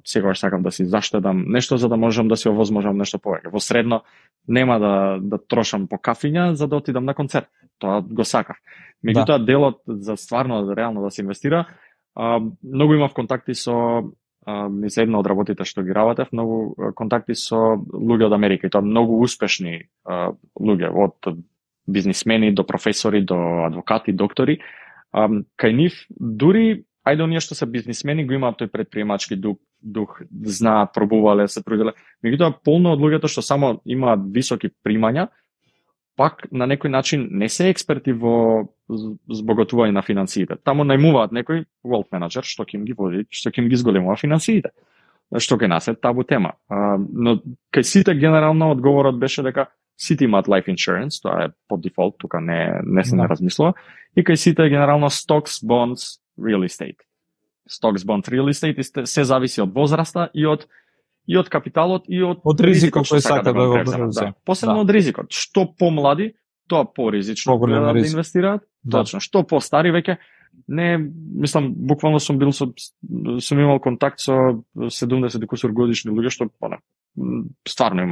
Speaker 2: Секогаш сакам да си заштедам нешто за да можам да си овозможам нешто повеќе. Во средно нема да трошам по кафиња за да отидам на концерт. Тоа го сакав. Меѓутоа делот за стварно реално да се инвестира, многу имав контакти со низ една од работите што ги работев, многу контакти со луѓе од Америка и тоа многу успешни луѓе, од бизнисмени до професори, до адвокати, доктори. Кај нив дури ајде оние што се бизнисмени го имаат тој предприемачки дух, знаат, пробувале, се труделе. Меѓутоа полно од луѓето што само имаат високи примања, пак на некој начин не се експерти во збогатување на финансиите. Таму најмуваат некој wealth manager што ќе им ги води, што ќе им ги зголемува финансиите. Што кај нас е табу тема. Но кај сите генерално одговорот беше дека сите имаат life insurance, тоа е по дефолт, тука не се не размислува. И кај сите генерално stocks, bonds, real estate. Stocks, bonds, real estate се зависи од возраста и од капиталот и од
Speaker 1: ризикот кој сака да го преземе.
Speaker 2: Посебно од ризикот. Што помлади, тоа поризично да инвестираат. Точно. Што постари веќе не, мислам, буквално сум имал контакт со 70 и кусур годишни луѓе што стварно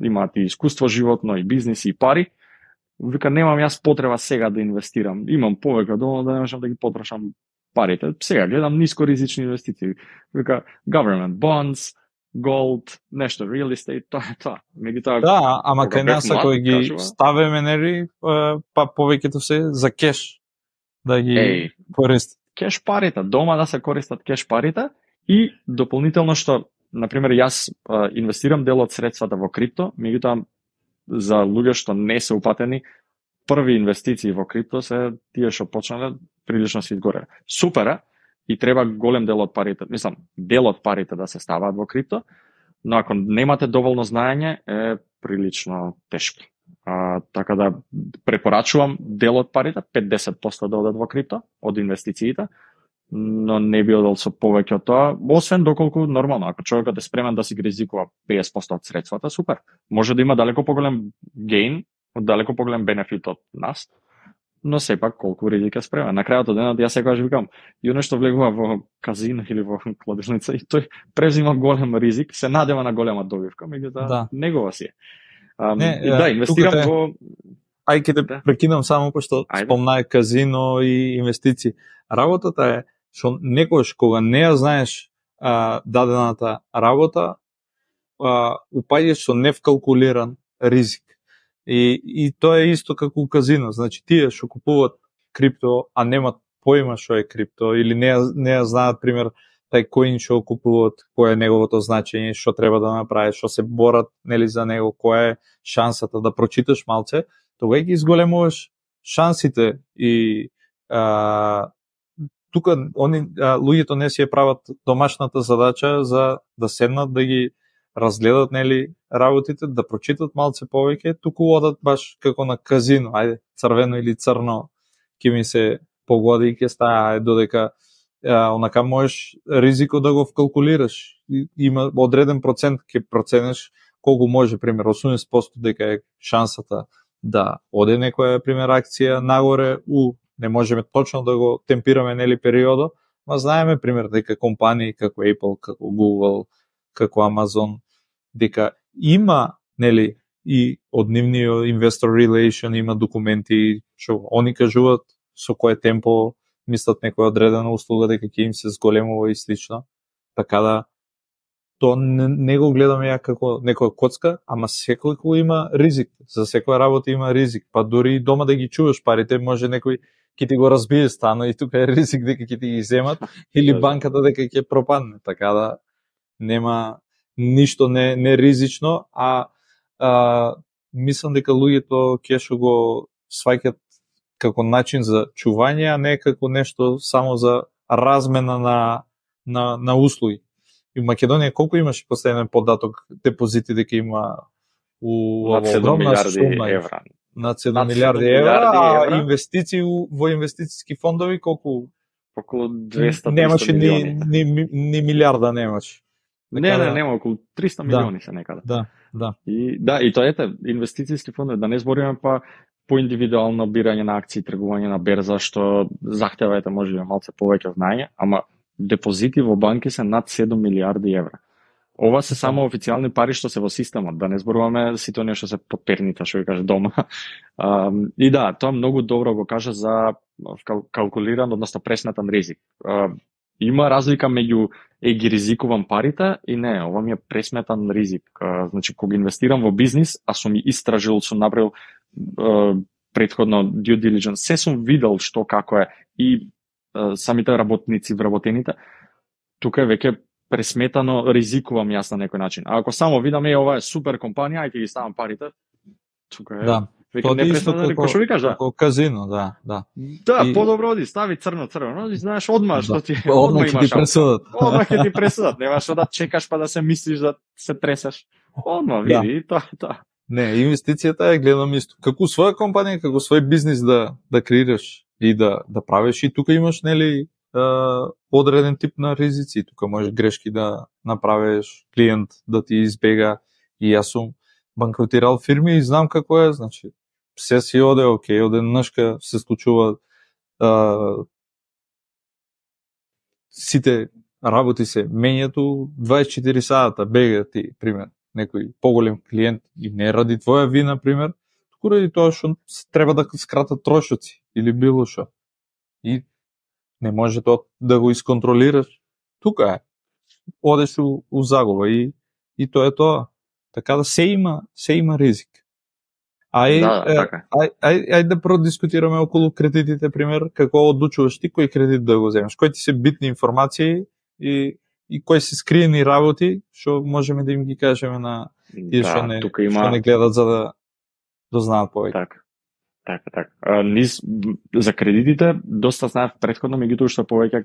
Speaker 2: имаат и искуство животно, и бизнис, и пари. Вика, немам јас потреба сега да инвестирам. Имам повеќе доволно да не можам да ги потрошам парите. Сега гледам нискоризични инвестиции. Вика, government bonds, gold, нешто, real estate, тоа е тоа.
Speaker 1: Да, ама кај нас ако ги ставиме, нели, па повеќето се за кеш да ги користат.
Speaker 2: Кеш парите, дома да се користат кеш парите и дополнително што, например, јас инвестирам дел од средствата во крипто, меѓутоа за луѓе што не се упатени, први инвестиции во крипто се тие што почнале прилично се изгореле. Супер е и треба голем дел од парите, мислам, дел од парите да се ставаат во крипто, но ако немате доволно знаење е прилично тешко. Така да препорачувам дел од парите, 5-10% да одат во крипто од инвестициите, но не би одел со повеќе од тоа, освен доколку нормално, ако човекот е спремен да си ги ризикува 50% од средствата, супер. Може да има далеко поголем гейн, далеко поголем бенефит од нас, но сепак колку ризик е спремен. На крајот од денот јас секогаш викам, и оно што влегува во казино или во кладилница, и тој презима голем ризик, се надева на голема добивка, меѓутоа негова си е. Инвестирам во...
Speaker 1: Ај ќе те прекинам само пошто спомнае казино и инвестиции. Работата е што некојаш кога не ја знаеш дадената работа, упаѓаш со невкалкулиран ризик. И тоа е исто како у казино. Значи тие што купуваат крипто, а немат поима што е крипто или не ја знаат, пример, тај коин што купуваат, кој е неговото значење, што треба да направи, што се борат нели за него, која е шансата да прочиташ малце, тогаш ги изголемуваш шансите и тука луѓето не си ја прават домашната задача за да седнат да ги разгледат нели работите, да прочитат малце повеќе, туку одат баш како на казино, ајде црвено или црно ќе ми се погоди и ќе стае, додека онака можеш ризико да го вкалкулираш. Има одреден процент ќе проценеш колку може, пример 80% дека е шансата да оде некоја пример акција нагоре, не можеме точно да го темпираме нели периодо, ма знаеме пример дека компании како Apple, како Google, како Amazon, дека има нели и од нивниот investor relation има документи што они кажуваат со кое темпо мислат некоја одредена услуга дека ќе им се зголемува и слично. Така да то не го гледам ја како некоја коцка, ама секој има ризик. За секоја работа има ризик. Па дури и дома да ги чуваш парите, може некој ќе ти го разбие стано и тука е ризик дека ќе ти ги земат или банката дека ќе пропадне. Така да нема ништо не ризично, мислам дека луѓето ќе што го сваќат како начин за чување, а не како нешто само за размена на услуги. И в Македонија колку имаше последен податок депозити дека има
Speaker 2: над 7 милиарди евра.
Speaker 1: Над 7 милиарди евра, а инвестиции во инвестициски фондови колку?
Speaker 2: Околу 200-300
Speaker 1: немаше
Speaker 2: милиони.
Speaker 1: Ни милиарда немаше.
Speaker 2: Нема околу 300 милиони се некаде.
Speaker 1: Да.
Speaker 2: И тоа ете, инвестициски фондови, да не збориме па по индивидуално бирање на акции, тргување на берза, што захтева може би малце повеќе знаење, ама депозити во банки се над 7 милиарди евра. Ова се само официјални пари што се во системот, да не зборуваме сите оние што се под перница, што ви каже дома. И да, тоа многу добро го кажа за калкулиран, односно пресметан ризик. Има разлика меѓу ги ризикувам парите и не, ова ми е пресметан ризик. Значи, кога инвестирам во бизнис, а сум истражил, сум направил претходно due diligence, се сум видел што како е и самите работници, вработените, тука е веќе пресметано, ризикувам јас на некој начин. А ако само видам, ова е супер компанија, ајде ги ставам парите, тука е веќе не пресметано, како што ви кажа.
Speaker 1: Како казино, да.
Speaker 2: Да, подобро оди, стави црно, и знаеш одма што ти
Speaker 1: одма ќе ти пресудат.
Speaker 2: Одма ќе ти пресудат, немаш да чекаш па да се мислиш да се тресеш. Одма види, тоа.
Speaker 1: Не, инвестицијата е гледам исто. Како своја компанија, како свој бизнис да креираш и да правиш, и тука имаш нели одреден тип на ризици. Тука можеш грешки да направиш, клиент да ти избега, и јас сум банкротирал фирми и знам како е, значи се си оде окей, од еднашка се случува сите работи се менјато 24 сата, бега ти, пример, некој поголем клиент и не ради твоја вина, пример, туку ради тоа што треба да скратат трошоци или било што. И не може тоа да го исконтролираш. Тука е. Одеш у загуба и тоа е тоа. Така да се има ризик. Ајде да продискутираме околу кредитите, пример, како одлучуваш ти кој кредит да го земеш, кои ти се битни информации и кои се скриени работи, што можеме да им ги кажеме на тие што не гледат за да дознаат повеќе.
Speaker 2: Така. За кредитите доста знаев претходно, меѓутоа што повеќе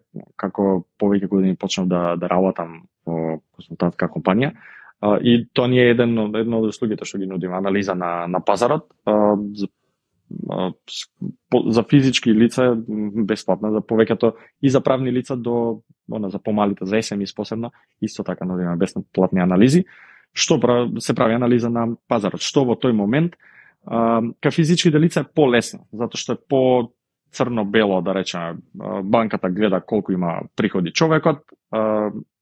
Speaker 2: повеќе години почнав да работам во консултантска компанија. И тоа ни е едно од услугите што ги нудиме, анализа на пазарот. За физички лица бесплатно, за повеќето и за правни лица за помалите, за SMEs посебно, исто така нудиме бесплатни анализи. Што се прави анализа на пазарот? Што во тој момент кај физичките лица е полесно, затоа што е по црно-бело, да речеме, банката гледа колку има приходи човекот,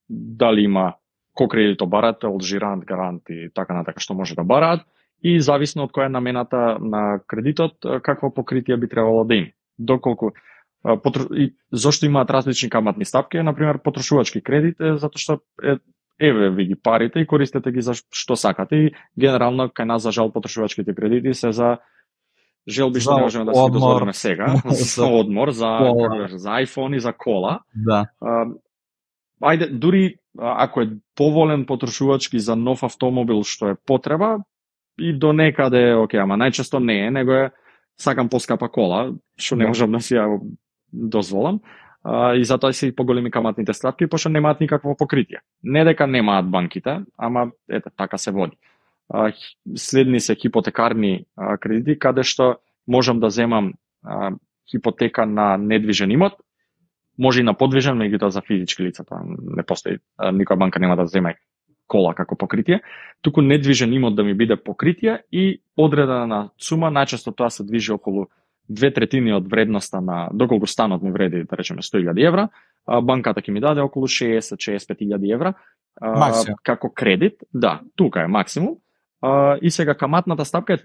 Speaker 2: дали има кој кредито барател, жирант, гарант и така натака што може да бараат, и зависно од која е намената на кредитот, какво покритие би требало да има. Доколку зошто имаат различни каматни стапки, например потрошувачки кредит, затоа што еве ви ги парите и користете ги за што сакате, и генерално кај нас за жал потрошувачките кредити се за желби што не можеме да се дозволиме сега, за одмор, за iPhone и за кола.
Speaker 1: Да.
Speaker 2: ајде, дури ако е поволен потрошувачки за нов автомобил што е потреба, и до некаде окей, ама најчесто не е, него е сакам поскапа кола, што не можам да си ја дозволам. И затоа се и поголеми каматните ставки, пошто немаат никакво покритие. Не дека немаат банките, ама ете, така се води. Следни се хипотекарни кредити, каде што можам да земам хипотека на недвижен имот, може и на подвижен, меѓутоа за физички лица, тоа не постои. Никоја банка нема да земе кола како покритие, туку недвижен имот да ми биде покритие и одредена сума, најчесто тоа се движи околу 2/3 од вредноста на, доколку станот ми вреди, да речеме, 100.000 евра, банката ќе ми даде околу 60-65.000 евра како кредит. Да, тука е максимум. И сега каматната стапка е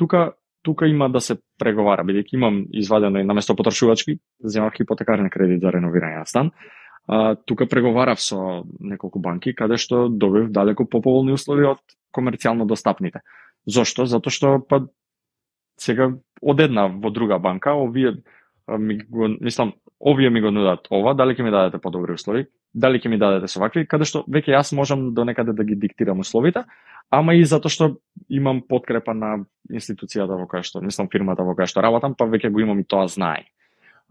Speaker 2: тука има да се преговара, бидејќи имам извадено и наместо потрошувачки, земав хипотекарен кредит за реновирање на стан. Тука преговарав со неколку банки, каде што добив далеко поповолни услови од комерцијално достапните. Зошто? Затоа што сега од една во друга банка, овие ми го нудат ова, дали ќе ми дадете подобри услови, дали ќе ми дадете со вакви, каде што веќе јас можам до некаде да ги диктирам условите, ама и затоа што имам подкрепа на институцијата во која што, фирмата во која што работам, па веќе го имам и тоа знае.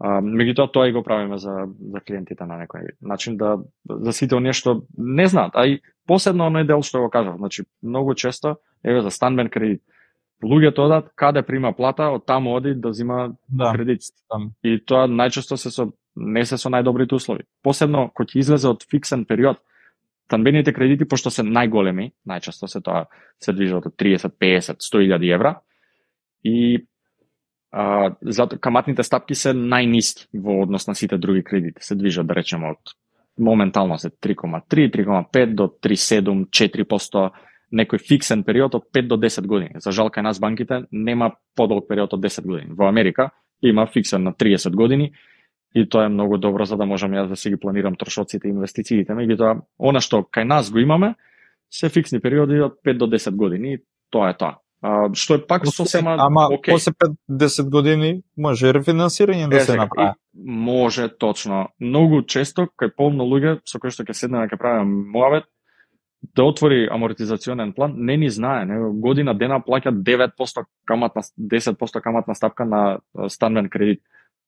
Speaker 2: Меѓутоа тоа и го правиме за клиентите на некој начин, да за сите оние што не знаат, а и посебно оној дел што го кажав, значи многу често еве за станбен кредит луѓето одат каде прима плата, од таму оди да зима кредит. И тоа најчесто не се со најдобрите услови. Посебно кога ќе излезе од фиксен период, станбените кредити, пошто се најголеми, најчесто се движат од 30, 50, 100.000 евра, и затоа каматните стапки се најниски во однос на сите други кредити. Се движат, да речеме, од моментално се 3,3, 3,5 до 3,7, 4%, некој фиксен период од 5 до 10 години. За жал, кај нас банките нема подолг период од 10 години. Во Америка има фиксен на 30 години и тоа е многу добро за да можам јас да си ги планирам трошоците и инвестициите. Меѓутоа, она што кај нас го имаме, се фиксни периоди од 5 до 10 години и тоа е тоа. Што е пак сосема окей.
Speaker 1: После 5-10 години може рефинансирање да се направи.
Speaker 2: Може, точно. Многу често кај полно луѓе со кои што ќе седнеме ќе правиме муавет, да отвори амортизационен план, не ни знае, година дена плаќа 9% каматна, 10% каматна стапка на станбен кредит.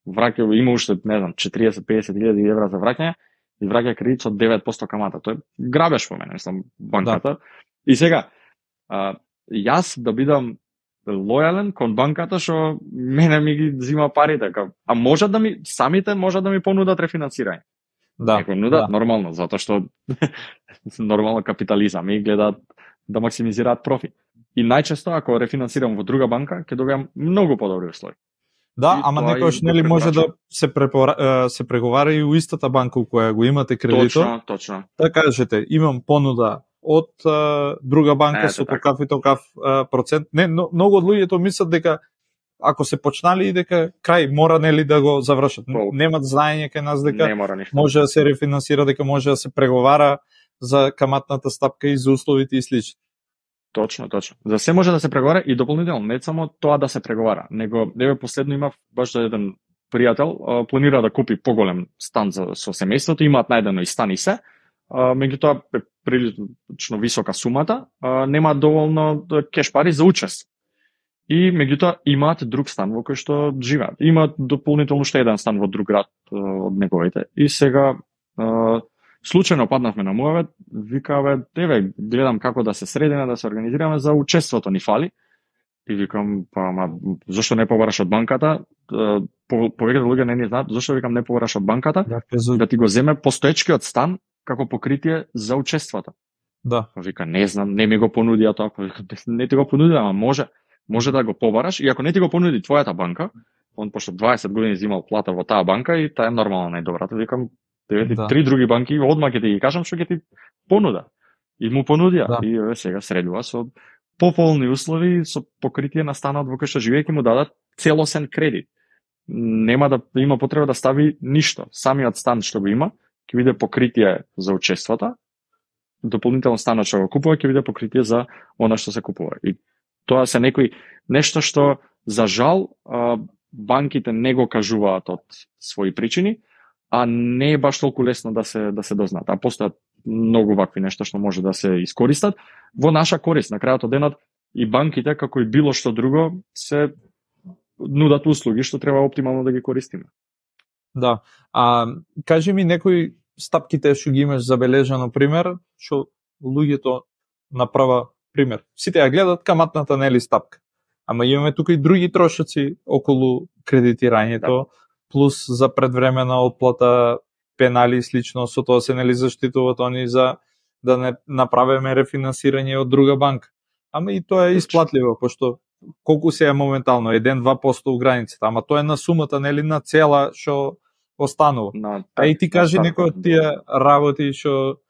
Speaker 2: Враќа, има уште, не знам, 40-50.000 евра за враќање и враќа кредит со 9% камата. Тој грабеш по мене, банката. Да. И сега, јас да бидам лојален кон банката што мене ми ги зима парите, а самите можат да ми понудат рефинансирање.
Speaker 1: Да,
Speaker 2: некој нудат, нормално, затоа што нормално капитализам и гледаат да максимизираат профит. И најчесто ако рефинансирам во друга банка, ќе добијам многу подобри услови.
Speaker 1: Да, ама некојаш нели може да се преговара и у истата банка у која го имате кредитот.
Speaker 2: Точно.
Speaker 1: Да кажете, имам понуда од друга банка со такав и такав процент. Не, многу од луѓето мислат дека ако се почнали и дека крај мора нели да го завршат. Немат знаење кај нас дека може да се рефинансира, дека може да се преговара за каматната стапка и за условите и слично.
Speaker 2: Точно. За се може да се преговара и дополнително, не само тоа да се преговара, него еве последно имав баш еден пријател, планира да купи поголем стан со семејството, имаат најдено и стан и се, меѓутоа е прилично висока сумата, нема доволно кеш пари за учест. И меѓутоа имаат друг стан во кој што живеат. Имаат дополнително уште еден стан во друг град од неговите. И сега случајно паднавме на муавет, викаве, еве, гледам како да се средиме, да се организираме за учеството ни фали. И викам, зашто не побараш од банката? Повеќето луѓе не ни знаат, зашто викам не побараш од банката? Да ти го земе постоечкиот стан како покритие за учеството.
Speaker 1: Да.
Speaker 2: Вика, не знам, не ми го понудија тоа. Не ти го понудија, ама може да го побараш, и ако не ти го понуди твојата банка, он пошто 20 години земал плата во таа банка и таа е нормално најдобрата, викам, три други банки, одма ќе ти ги кажам што ќе ти понуда. И му понудија. И сега средува со пополни услови, со покритие на станот во кој што живее, ќе му дадат целосен кредит. Нема да има потреба да стави ништо. Самиот стан што го има, ќе биде покритие за учеството, дополнително станот што го купува, ќе биде покритие за она што се купува. И тоа се нешто што, за жал, банките не го кажуваат од своји причини, а не е баш толку лесно да се дознаат. А постојат многу вакви нешта што може да се искористат во наша корист. На крајот од денот и банките, како и било што друго, се нудат услуги што треба оптимално да ги користиме.
Speaker 1: Да. Кажи ми некои стапките што ги имаш забележано пример, што луѓето направа пример. Сите ја гледат каматната нели стапка. Ама имаме тука и други трошоци околу кредитирањето, плюс за предвремена отплата, пенали и слично, со тоа се нели заштитуваат они за да не направиме рефинансирање од друга банка. Ама и тоа е исплатливо, пошто колку се е моментално 1-2% у границата, ама тоа е на сумата нели на цела што останува. И ти кажи некои од тие работи што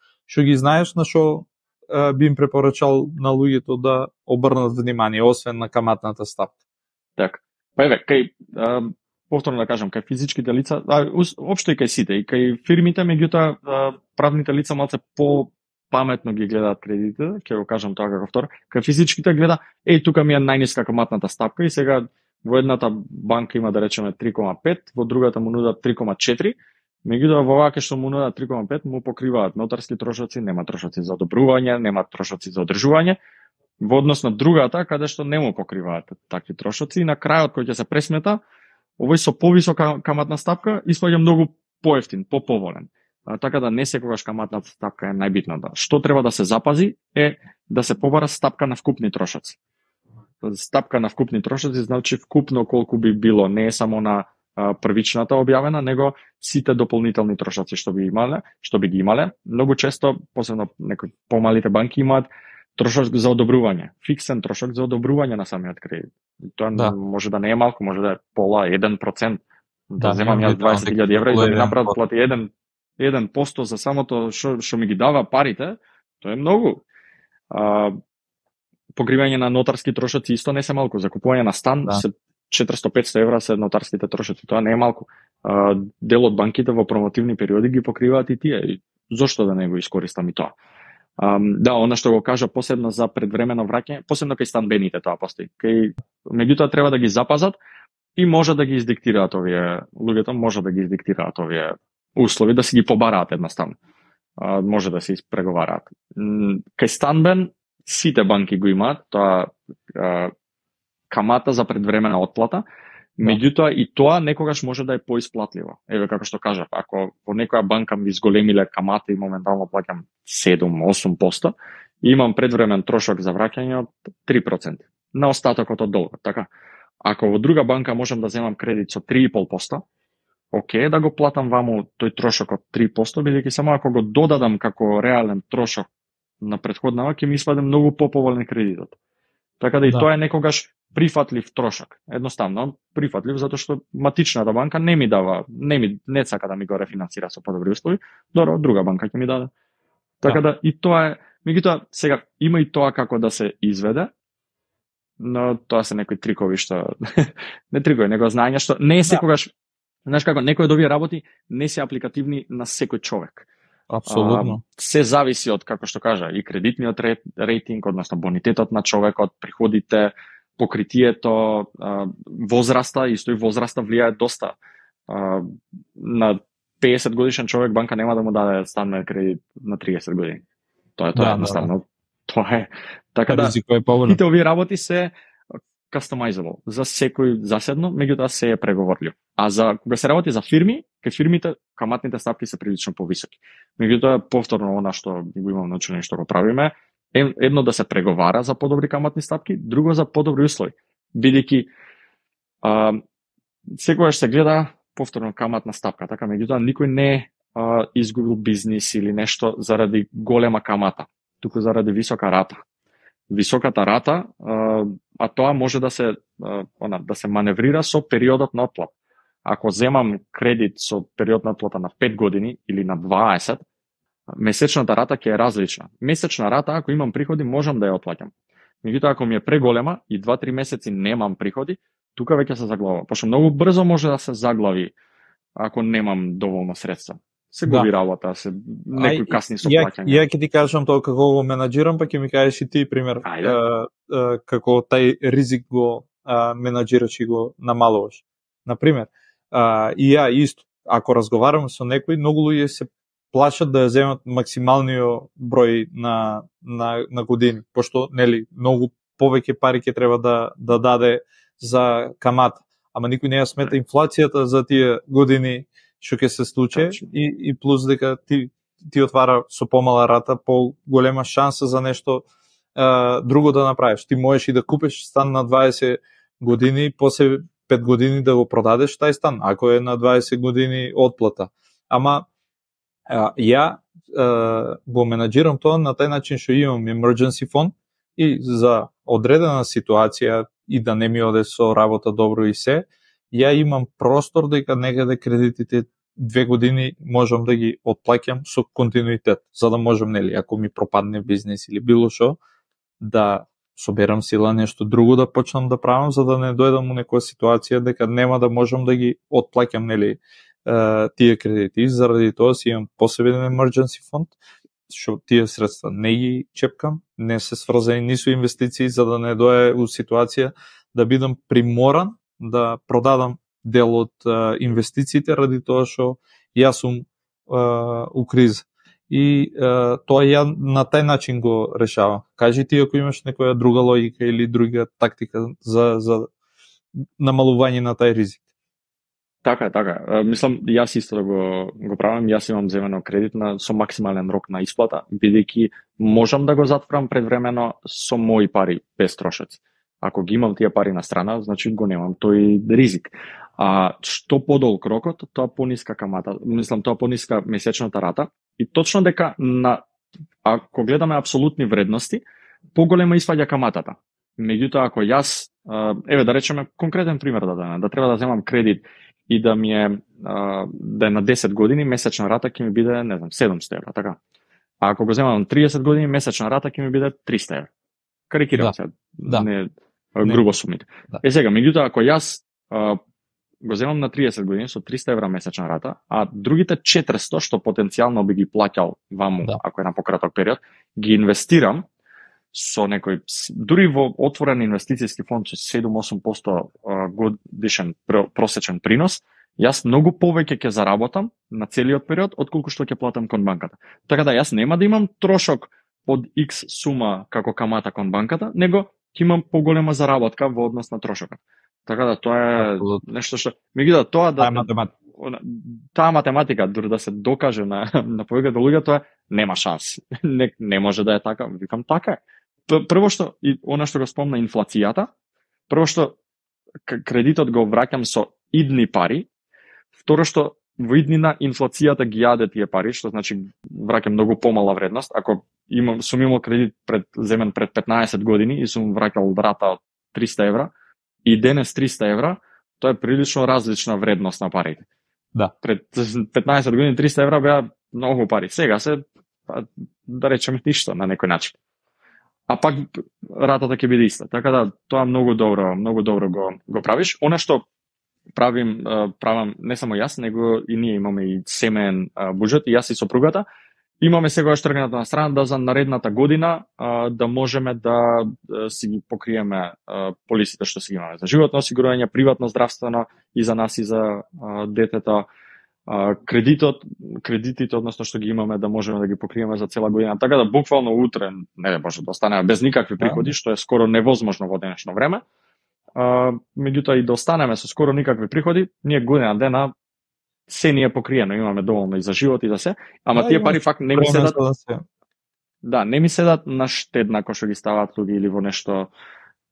Speaker 1: ги знаеш, на што би им препорачал на луѓето да обрнат внимание, освен на каматната стапка.
Speaker 2: Така. Па еве, кај повторно да кажам, кај физичките лица, општо и кај сите, и кај фирмите, меѓутоа правните лица малце по-паметно ги гледаат кредитите, ќе го кажам тоа како втор. Кај физичките гледа, тука ми е најниска каматната стапка и сега во едната банка има да речеме 3,5, во другата му нудат 3,4. Меѓутоа во оваа што му нудат 3,5 му покриваат нотарски трошоци, нема трошоци за одобрување, нема трошоци за одржување, во однос на другата каде што не му покриваат такви трошоци и на крајот кој ќе се пресмета, овој со повисока каматна стапка испаѓа многу поевтин, поповолен. Така да не секогаш каматната стапка е најбитната. Што треба да се запази е да се побара стапка на вкупни трошоци. Стапка на вкупни трошоци значи вкупно колку би било, не е само на првичната објавена, него сите дополнителни трошоци што би ги имале. Многу често, посебно некои помалите банки имаат трошок за одобрување, фиксен трошок за одобрување на самиот кредит. Тоа може да не е малку, може да е пола, 1%. Да земам јас 20.000 евра и да ми направат плати 1% за самото што ми ги дава парите, тоа е многу. Покривање на нотарски трошоци исто не се малку. За купување на стан се 400-500 евра се нотарските трошоци, тоа не е малку. Дел од банките во промотивни периоди ги покриваат и тие. Зошто да не го искористам и тоа? Да, она што го кажа посебно за предвремено враќање, посебно кај станбените тоа постои. Меѓутоа треба да ги запазат и може да ги издиктираат овие луѓето, може да ги издиктираат овие услови, да си ги побараат едноставно. Може да се испреговараат. Кај станбен сите банки го имаат, тоа камата за предвремена отплата, меѓутоа и тоа некогаш може да е поисплатливо. Еве како што кажав, ако во некоја банка ми зголемиле камата и моментално плаќам 7-8%, и имам предвремен трошок за враќање од 3% на остатокот од долгот, така? Ако во друга банка можам да земам кредит со 3,5%, окей, да го платам ваму тој трошок од 3%, бидејќи само ако го додадам како реален трошок на претходнава, ќе ми испаде многу поповолен кредитот. Така да и тоа е некогаш прифатлив трошок. Едноставно прифатлив затоа што матичната банка не сака да ми го рефинансира со подобри услови, добро, друга банка ќе ми даде. Така да и тоа е, меѓутоа сега има и тоа како да се изведе, но тоа се некои трикови што не трикови, него знаење што не е секогаш, знаеш како, некои од овие работи не се апликативни на секој човек.
Speaker 1: Апсолутно.
Speaker 2: Се зависи од, како што кажа, и кредитниот рейтинг, односно бонитетот на човекот, приходите, покритието, возраста, исто и возраста влијае доста. На 50 годишен човек банка нема да му даде станен кредит на 30 години. Тоа е едноставно. Тоа е. Така да, сите овие работи се customizable за секој заседно, меѓутоа се е преговорливо. А за кога се работи за фирми, кај фирмите каматните стапки се прилично повисоки. Меѓутоа повторно она што го имам научено и што го правиме, едно да се преговара за подобри каматни стапки, друго за подобри услови. Бидејќи секогаш се гледа повторно каматна стапка, така меѓутоа никој не изгубил бизнис или нешто заради голема камата, туку заради висока рата. Високата рата, а тоа може да се маневрира со периодот на отплата. Ако земам кредит со период на отплата на 5 години или на 20, месечната рата ќе е различна. Месечна рата, ако имам приходи, можам да ја отплаќам. Меѓутоа, ако ми е преголема и 2-3 месеци немам приходи, тука веќе се заглавува. Пошто многу брзо може да се заглави ако немам доволно средства. Се губи работа, се некои касни со плаќање.
Speaker 1: Ја ќе ти кажам тоа како го менаџирам, па ќе ми кажеш и ти пример како тај ризик го менаџираш и го намалуваш. Например, и ја исто, ако разговарам со некој, многу луѓе се плашат да ја земат максималниот број на години, пошто нели многу повеќе пари ќе треба да даде за камата. Ама никој не ја смета инфлацијата за тие години што ќе се случи и плюс дека ти отвара со помала рата голема шанса за нешто друго да направиш. Ти можеш и да купиш стан на 20 години, после 5 години да го продадеш тај стан, ако е на 20 години отплата. Ама ја го менаџирам тоа на тај начин што имам emergency фонд и за одредена ситуација и да не ми оде со работа добро и се, ја имам простор дека некаде кредитите 2 години можам да ги отплаќам со континуитет, за да можам, нели, ако ми пропадне бизнес или било што, да соберам сила нешто друго да почнам да правам, за да не дојдам у некоја ситуација дека нема да можам да ги отплаќам, нели, тие кредити. Заради тоа си имам посебен emergency фонд, што тие средства не ги чепкам, не се сврзани ни со инвестиции, за да не дојде у ситуација да бидам приморан да продадам дел од инвестициите ради тоа што јас сум у криза. И тоа ја на тај начин го решавам. Кажи ти ако имаш некоја друга логика или друга тактика за намалување на тај ризик.
Speaker 2: Така. Мислам, јас исто да го правам. Јас имам земено кредит со максимален рок на исплата, бидејќи можам да го затворам предвремено со мои пари без трошоци. Ако ги имам тие пари на страна, значи го немам тој ризик. А што подолг рокот, тоа пониска камата, мислам тоа пониска месечната рата и точно дека ако гледаме апсолутни вредности, поголема испаѓа каматата. Меѓутоа ако јас, еве да речеме конкретен пример да треба да земам кредит и да ми е да е на 10 години, месечна рата ќе ми биде, не знам, 700 евра, така. А ако го земам 30 години, месечна рата ќе ми биде 300 евра. Карикирам се. Не грубо сумите. Да. Сега, меѓутоа ако јас го земам на 30 години со 300 евра месечна рата, а другите 400 што потенцијално би ги плаќал ваму, ако е на пократок период, ги инвестирам со некој, дури во отворен инвестицијски фонд со 7-8% годишен просечен принос, јас многу повеќе ќе заработам на целиот период отколку што ќе платам кон банката. Така да јас нема да имам трошок од X сума како камата кон банката, него ќе имам поголема заработка во однос на трошокот. Така да тоа е нешто што меѓутоа тоа таа математика дури да се докаже на повеќето луѓе, тоа нема шанс. Не може да е така, викам така е. Прво што и она што го спомна инфлацијата, прво што кредитот го враќам со идни пари, второ што во иднина инфлацијата ги јаде тие пари, што значи враќам многу помала вредност. Ако сум имал кредит земен пред 15 години и сум враќал рата од 300 евра, и денес 300 евра, тоа е прилично различна вредност на парите.
Speaker 1: Да.
Speaker 2: Пред 15 години 300 евра беа многу пари. Сега се, да речеме, ништо на некој начин. А пак ратата ќе биде иста. Така да тоа многу добро го правиш. Она што правам не само јас, него и ние имаме и семеен буџет, и јас и сопругата. Имаме сегаш тргнато на страна да за наредната година да можеме да си ги покриеме полисите што си имаме за животно осигурување, приватно здравствено и за нас и за детето, кредитите, односно што ги имаме да можеме да ги покриеме за цела година. Така да буквално утре не може да останеме без никакви приходи, што е скоро невозможно во денешно време. Меѓутоа и да останеме со скоро никакви приходи, ние година дена се ни е покриено, имаме доволно и за живот и за се, ама тие пари пак не ми седат. Да, не ми седат на штедна кој што ги ставаат луѓе или во нешто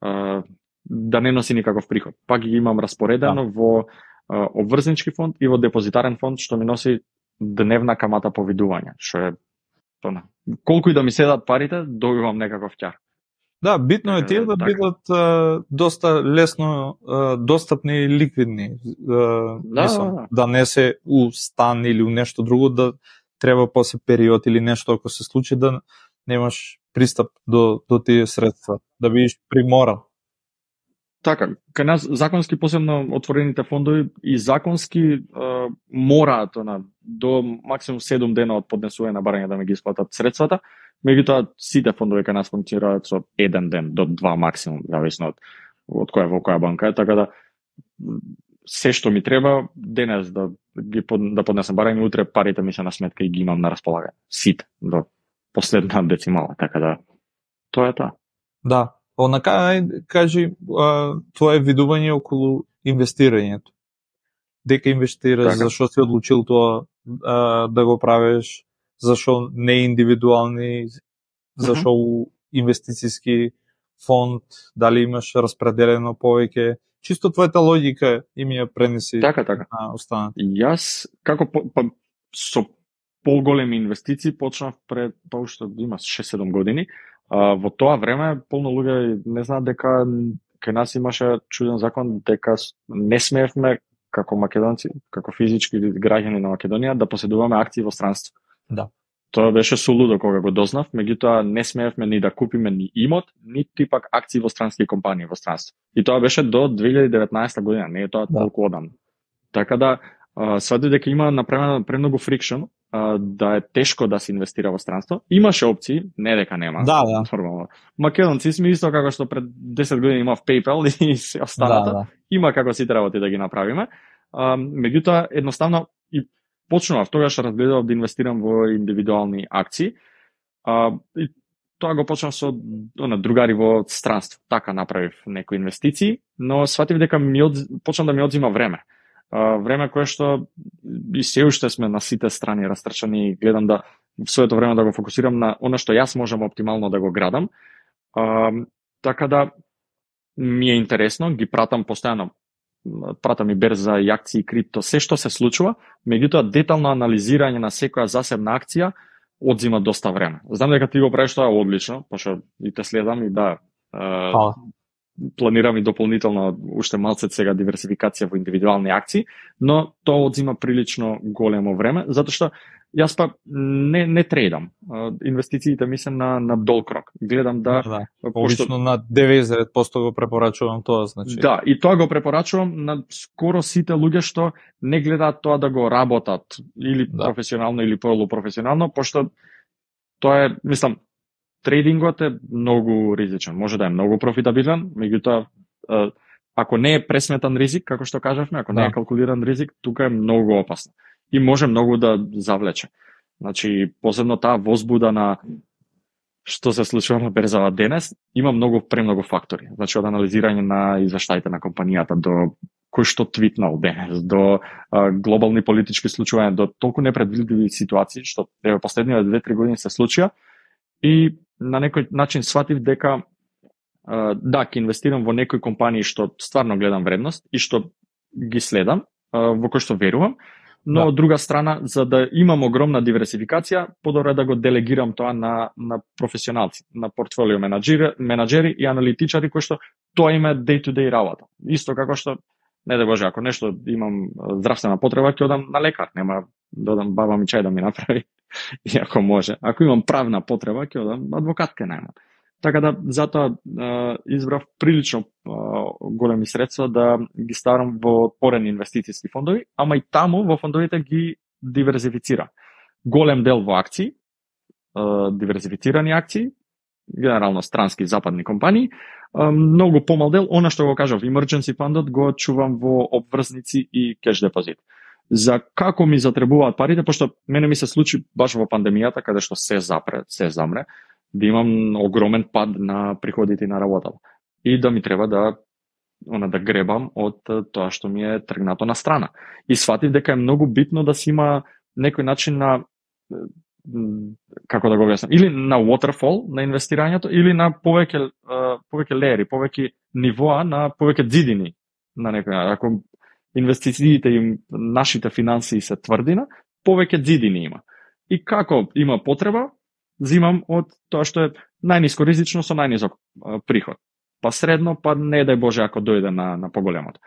Speaker 2: да не носи никаков приход. Пак ги имам распоредено во обврзнички фонд и во депозитарен фонд што ми носи дневна камата по видување, што е колку и да ми седат парите, добивам некаков ќар.
Speaker 1: Да, битно е тие да бидат доста лесно достапни и ликвидни. Да не се у стан или у нешто друго, да треба после период или нешто ако се случи да немаш пристап до тие средства, да бидеш приморан.
Speaker 2: Така, кај нас законски посебно отворените фондови и законски мораат до максимум 7 дена од поднесување на барање да ми ги исплатат средствата. Меѓутоа сите фондови кај нас функционираат со 1 ден до 2 максимум, зависно од во која банка е, така да се што ми треба денес да поднесам барем и утре парите ми се на сметка и ги имам на располагање. Сите до последна децимала, така да тоа е тоа.
Speaker 1: Да. Онака, кажи, твое видување околу инвестирањето. Дека инвестираш,
Speaker 2: Така.
Speaker 1: зашо си одлучил тоа да го правиш, зашо не индивидуални, зашо инвестициски фонд, дали имаш распределено повеќе. Чисто твојата логика и ми ја пренеси
Speaker 2: Така.
Speaker 1: на останат.
Speaker 2: Јас, како со поголеми инвестиции почнав пред, уште има 6-7 години. Во тоа време полно луѓе не знаат дека кај нас имаше чуден закон дека не смеевме како македонци, како физички граѓани на Македонија да поседуваме акции во странство.
Speaker 1: Да.
Speaker 2: Тоа беше сулудо кога го дознав, меѓутоа не смеевме ни да купиме ни имот, нити пак акции во странски компании во странство. И тоа беше до 2019 година, не е тоа толку одамна. Така да сватив дека има направено премногу фрикшн, да е тешко да се инвестира во странство. Имаше опции, не дека нема.
Speaker 1: Да.
Speaker 2: Нормално. Македонци сме исто како што пред 10 години имав PayPal и се останата.
Speaker 1: Да.
Speaker 2: Има како сите работи да ги направиме. Меѓутоа едноставно и почнував тогаш разгледав да инвестирам во индивидуални акции. И тоа го почнав со другари во странство. Така направив некои инвестиции, но сватив дека почна да ми одзима време. Време кое што и се уште сме на сите страни растрчани и гледам да в своето време да го фокусирам на она што јас можам оптимално да го градам. Така да ми е интересно, ги пратам постојано, пратам и берза и акции, крипто, се што се случува, меѓутоа детално анализирање на секоја засебна акција одзима доста време. Знам дека ти го правиш тоа одлично, пошто и те следам и да, планирам и дополнително уште малце сега диверсификација во индивидуални акции, но тоа одзима прилично големо време, затоа што јас па не трейдам. Инвестициите ми се на долг рок. Гледам да...
Speaker 1: Обично на 99% го препорачувам тоа, значи.
Speaker 2: Да, и тоа го препорачувам на скоро сите луѓе што не гледаат тоа да го работат или професионално или полупрофесионално, пошто тоа е, мислам, трейдингот е многу ризичен. Може да е многу профитабилен, меѓутоа ако не е пресметан ризик, како што кажавме, ако не е калкулиран ризик, тука е многу опасно и може многу да завлече. Значи, посебно таа возбуда на што се случува на берзава денес, има премногу фактори. Значи, од анализирање на извештаите на компанијата до кој што твитнал денес, до глобални политички случувања, до толку непредвидливи ситуации, што последниве 2-3 години се случија, и на некој начин сватив дека ќе инвестирам во некои компании што стварно гледам вредност и што ги следам, во кој што верувам, но од друга страна, за да имам огромна диверсификација, подобро е да го делегирам тоа на професионалци, на портфолио менаџери и аналитичари кои што тоа им е day-to-day работа. Исто како што, не да Боже, ако нешто имам здравствена потреба, ќе одам на лекар, нема да одам баба ми чај да ми направи, иако може. Ако имам правна потреба, ќе одам адвокат ке најмам. Така да, затоа избрав прилично големи средства да ги ставам во отворени инвестицијски фондови, ама и таму во фондовите ги диверзифицирам. Голем дел во акции, диверзифицирани акции, генерално странски западни компании, многу помал дел, она што го кажав, emergency фондот го чувам во обврзници и кеш депозит. За како ми затребуваат парите, пошто мене ми се случи баш во пандемијата, каде што се замре, да имам огромен пад на приходите на работата. И да ми треба да гребам од тоа што ми е тргнато на страна. И сватив дека е многу битно да се има некој начин на, како да го објаснам, или на waterfall на инвестирањето, или на повеќе леери, повеќе нивоа, на повеќе дзидини на некој. Ако инвестициите им, нашите финансии се тврдина, повеќе дзидини има. И како има потреба, зимам од тоа што е најниско ризично со најнизок приход. Па средно, па не дај Боже ако дојде на поголемото.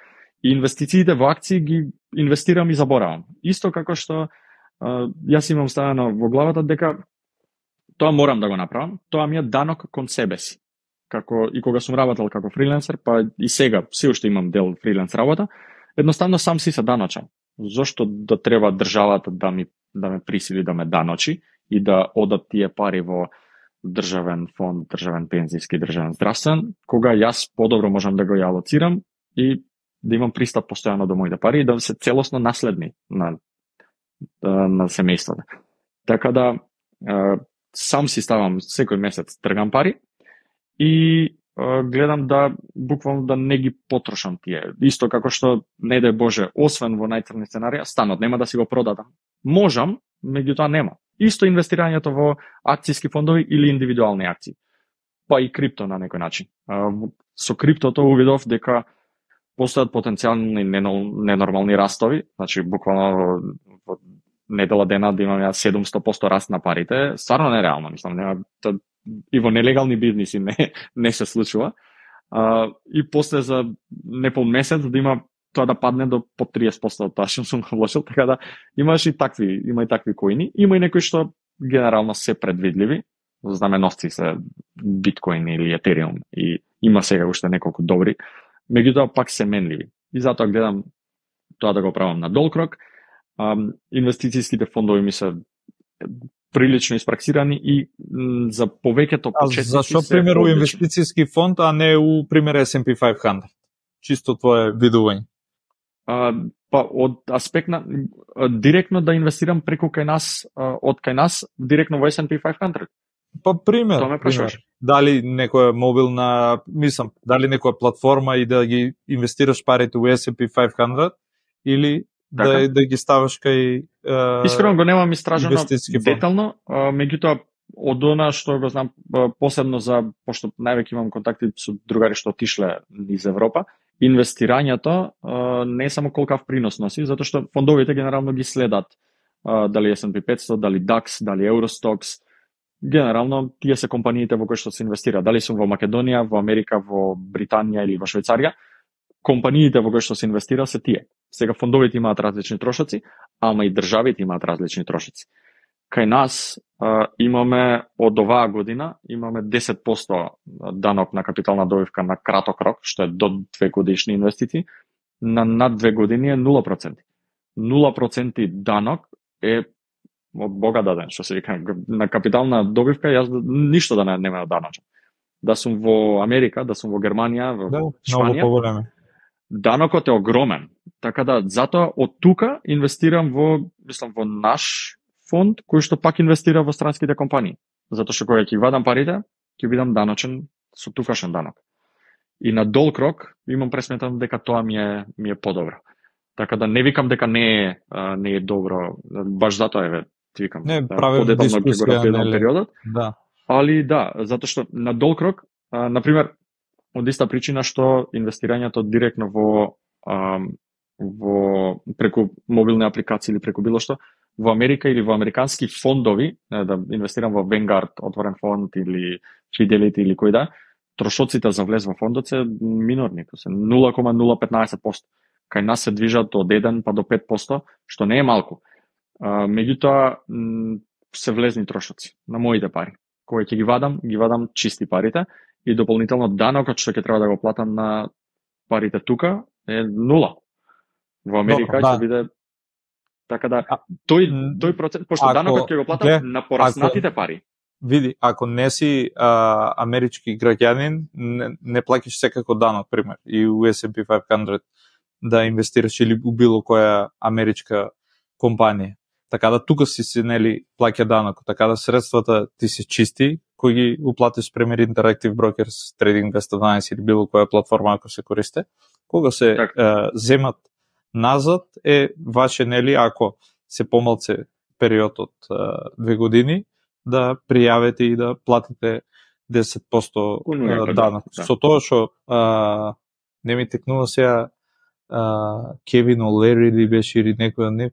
Speaker 2: И инвестициите во акции ги инвестирам и заборавам. Исто како што јас имам ставено во главата дека тоа морам да го направам, тоа ми е данок кон себе си. Како и кога сум работел како фриленсер, па и сега се уште имам дел фриленс работа, едноставно сам си се даночам. Зошто да треба државата да ме присили да ме даночи и да одат тие пари во државен фонд, државен пензиски, државен здравствен, кога јас подобро можам да го алоцирам и да имам пристап постојано до моите пари и да се целосно наследни на семејството. Така да сам си ставам секој месец тргам пари и гледам да буквално да не ги потрошам тие. Исто како што не дај Боже, освен во најцрни сценарија, станот нема да си го продадам. Можам, меѓутоа нема. Исто инвестирањето во акцијски фондови или индивидуални акции. Па и крипто на некој начин. Со криптото увидов дека постојат потенцијални ненормални растови, значи буквално во недела дена да имам 700% раст на парите, стварно нереално, мислам, нема и во нелегални бизниси не се случува. И после за непол месец да има тоа да падне до по 30% од тоа што сум вложил, така да има и такви коини, има и некои што генерално се предвидливи, знаменосци се биткоин или етериум и има сега уште неколку добри, меѓутоа пак се менливи. И затоа гледам тоа да го правам на долг рок. Инвестицијските фондови ми се прилично испраксирани и за повеќето почетници.
Speaker 1: Зашо пример у инвестицијски фонд, а не у пример S&P 500? Чисто твое видување.
Speaker 2: Па од аспект на директно да инвестирам преку кај нас, од кај нас директно во S&P 500.
Speaker 1: Па пример, дали некоја мобилна, мислам, дали некоја платформа и да ги инвестираш парите во S&P 500 или да ги ставаш кај
Speaker 2: Искрено го немам истражено детално, меѓутоа од она што го знам посебно пошто највеќе имам контакти со другари што отишле низ Европа, инвестирањето не е само колкав принос носи, затоа што фондовите генерално ги следат дали S&P 500, дали DAX, дали Eurostox. Генерално тие се компаниите во кои што се инвестира, дали сум во Македонија, во Америка, во Британија или во Швајцарија, компаниите во кои што се инвестира се тие. Сега фондовите имаат различни трошоци, ама и државите имаат различни трошоци. Кај нас имаме од оваа година имаме 10% данок на капитална добивка на краток рок, што е до 2 годишни инвестиции, на над 2 години е 0%. 0% данок е од Бога даден, што се вика, на капитална добивка јас ништо да нема даночен. Да сум во Америка, да сум во Германија, во Шпанија, данокот е огромен. Така да, затоа од тука инвестирам во наш фонд, кој што пак инвестира во странските компании. Затоа што кога ќе вадам парите, ќе бидам даночен со тукашен данок. И на долг рок имам пресметано дека тоа ми е подобро. Така да не викам дека не е добро, баш затоа ти викам.
Speaker 1: Не, правилна дискусија,
Speaker 2: периодот.
Speaker 1: Да.
Speaker 2: Али да, затоа што на долг рок, например, од иста причина што инвестирањето директно во преку мобилни апликации или преку било што, во Америка или во американски фондови, да инвестирам во Vanguard, отворен фонд или Fidelity или кој да, трошоците за влез во фондот се минорни, се 0,015%. Кај нас се движат од 1 па до 5%, што не е малку. Меѓутоа се влезни трошоци на моите пари. Кога ќе ги вадам чисти парите и дополнително данокот што ќе треба да го платам на парите тука е 0. Во Америка ќе биде така да тој процент, пошто данокот ќе го платам на пораснатите пари.
Speaker 1: Види, ако не си амерички граѓанин, не плаќаш секако данок, пример, и у S&P 500 да инвестираш или у било која америчка компанија. Така да тука си нели плаќа данок, така да средствата ти се чисти, кои ги уплатиш пример Interactive Brokers, Trading 212 или било која платформа ако се користи, кога се земат назад е ваше нели ако се помалце период од 2 години да пријавите и да платите 10% данок. Со тоа што не ми текнува сега Кевин Олери ли беше или некој не,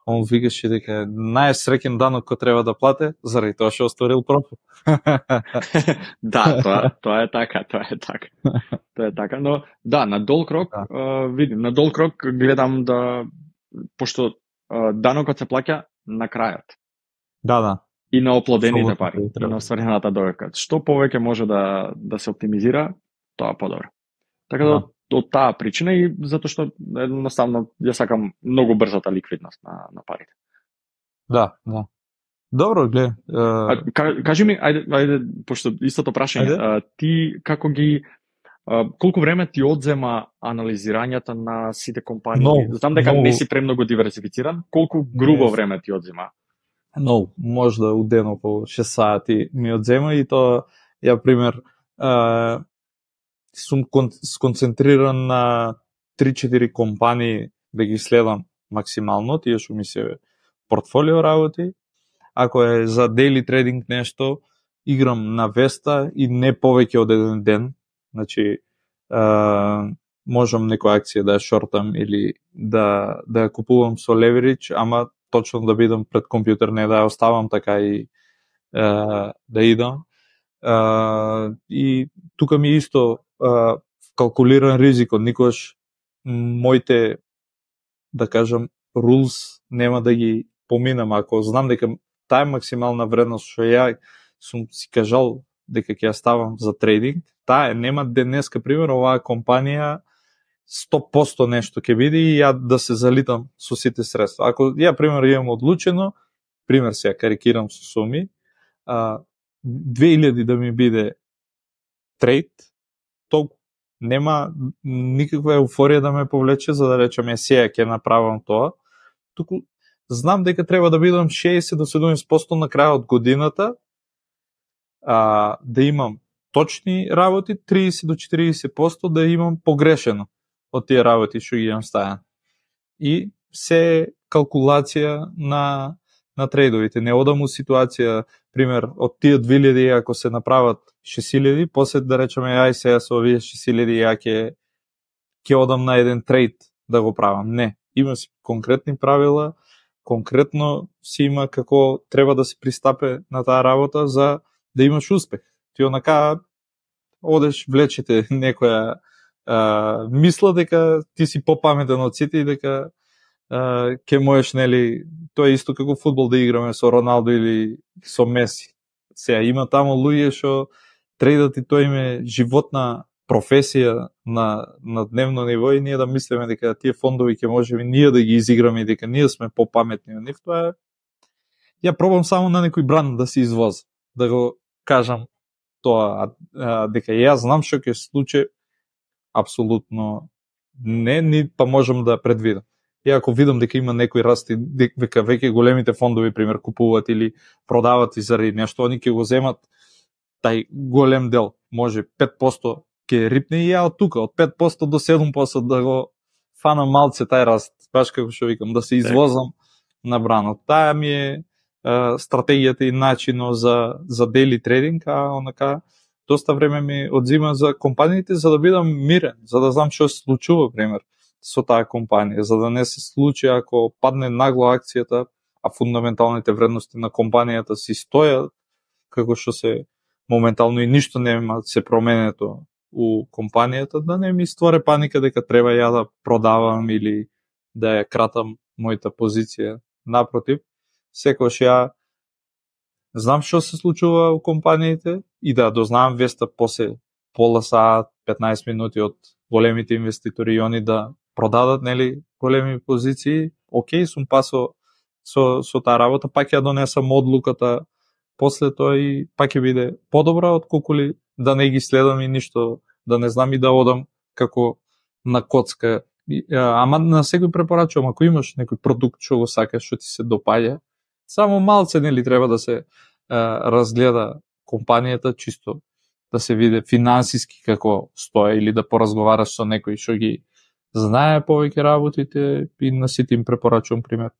Speaker 1: он викаше дека најсреќен данок кој треба да плате заради тоа што остварил профит.
Speaker 2: Да, тоа е така. Тоа е така, но да, на долг рок, видим, на долг рок гледам да, пошто данокот се плаќа на крајот.
Speaker 1: Да.
Speaker 2: И на оплодените пари, и на остварената добивка. Што повеќе може да се оптимизира, тоа подобро. Така да, од таа причина и затоа што едноставно ја сакам многу брзата ликвидност на парите.
Speaker 1: Да. Добро, гледа.
Speaker 2: Кажи ми, ајде, пошто истото прашање, ти како ги Колку време ти одзема анализирањето на сите компании?
Speaker 1: Многу,
Speaker 2: Знам дека
Speaker 1: многу.
Speaker 2: не си премногу диверсифициран. Колку грубо време ти одзема?
Speaker 1: Но, можда у ден околу 6 сати ми одзема и тоа, ја пример, сум сконцентриран на 3-4 компании да ги следам максимално, тие што ми се портфолио работи. Ако е за daily trading нешто, играм на Веста и не повеќе од еден ден. Значи, можам некоја акција да ја шортам или да ја купувам со leverage, ама точно да бидам пред компјутер, не да ја оставам така и да идам. И тука ми исто калкулиран ризикот, никош моите, да кажам, rules нема да ги поминам. Ако знам дека таа максимална вредност што ја сум си кажал дека ќе ја ставам за трейдинг, таа нема денеска, пример, оваа компанија 100% нешто ќе биде и ја да се залитам со сите средства. Ако ја, пример, имам одлучено, пример се ја карикирам со суми, 2000 да ми биде трейд, толку нема никаква еуфорија да ме повлече за да речем сега ќе направам тоа. Туку знам дека треба да бидам 60 до 70% на крајот од годината, да имам точни работи, 30 до 40% да имам погрешено од тие работи што ги имам ставен. И се калкулација на трейдовите. Не одам у ситуација, пример, од тие 2000 ако се направат 6000, после да речеме ај сега со овие 6000 ја ќе одам на еден трейд да го правам. Не, има си конкретни правила, конкретно си има како треба да се пристапе на таа работа за да имаш успех. Ти онака одеш, влечете некоја мисла дека ти си попаметен од сите и дека ќе можеш, нели, тоа е исто како фудбал да играме со Роналдо или со Меси. Сега има таму луѓе што трейдат и тоа им е животна професија на дневно ниво и ние да мислиме дека тие фондови ќе можеме ние да ги изиграме и дека ние сме попаметни од нив, тоа е. Ја пробам само на некој бранд да се извоз, да го кажам тоа, дека јас знам што ќе се случи, апсолутно не, ни па можам да предвидам. И ако видам дека има некој раст и дека веќе големите фондови, пример, купуваат или продават и заради нешто, они ќе го земат тај голем дел, може 5% ќе рипне и ја од тука, од 5% до 7% да го фанам малце тај раст, баш како што викам, да се извозам на бранот. Таа ми е стратегијата и начинот за daily trading, а онака доста време ми одзима за компаниите за да бидам мирен, за да знам што се случува, пример, со таа компанија, за да не се случи ако падне нагло акцијата, а фундаменталните вредности на компанијата си стојат како што се моментално и ништо нема се променето у компанијата, да не ми створи паника дека треба ја да продавам или да ја кратам мојата позиција. Напротив, секогаш ја знам што се случува у компаниите и да дознавам веста после пола саат, 15 минути од големите инвеститори и они да продадат, нели, големи позиции. Океј, сум пасо со таа работа, пак ја донесам одлуката после тоа и пак ќе биде подобра отколку ли да не ги следам и ништо, да не знам и да одам како на коцка. Ама на секој препорачувам, ако имаш некој продукт што го сакаш, што ти се допаѓа, само малце, нели, треба да се разгледа компанијата, чисто да се види финансиски како стоја или да поразговараш со некој што ги знае повеќе работите и на сите им препорачувам, пример,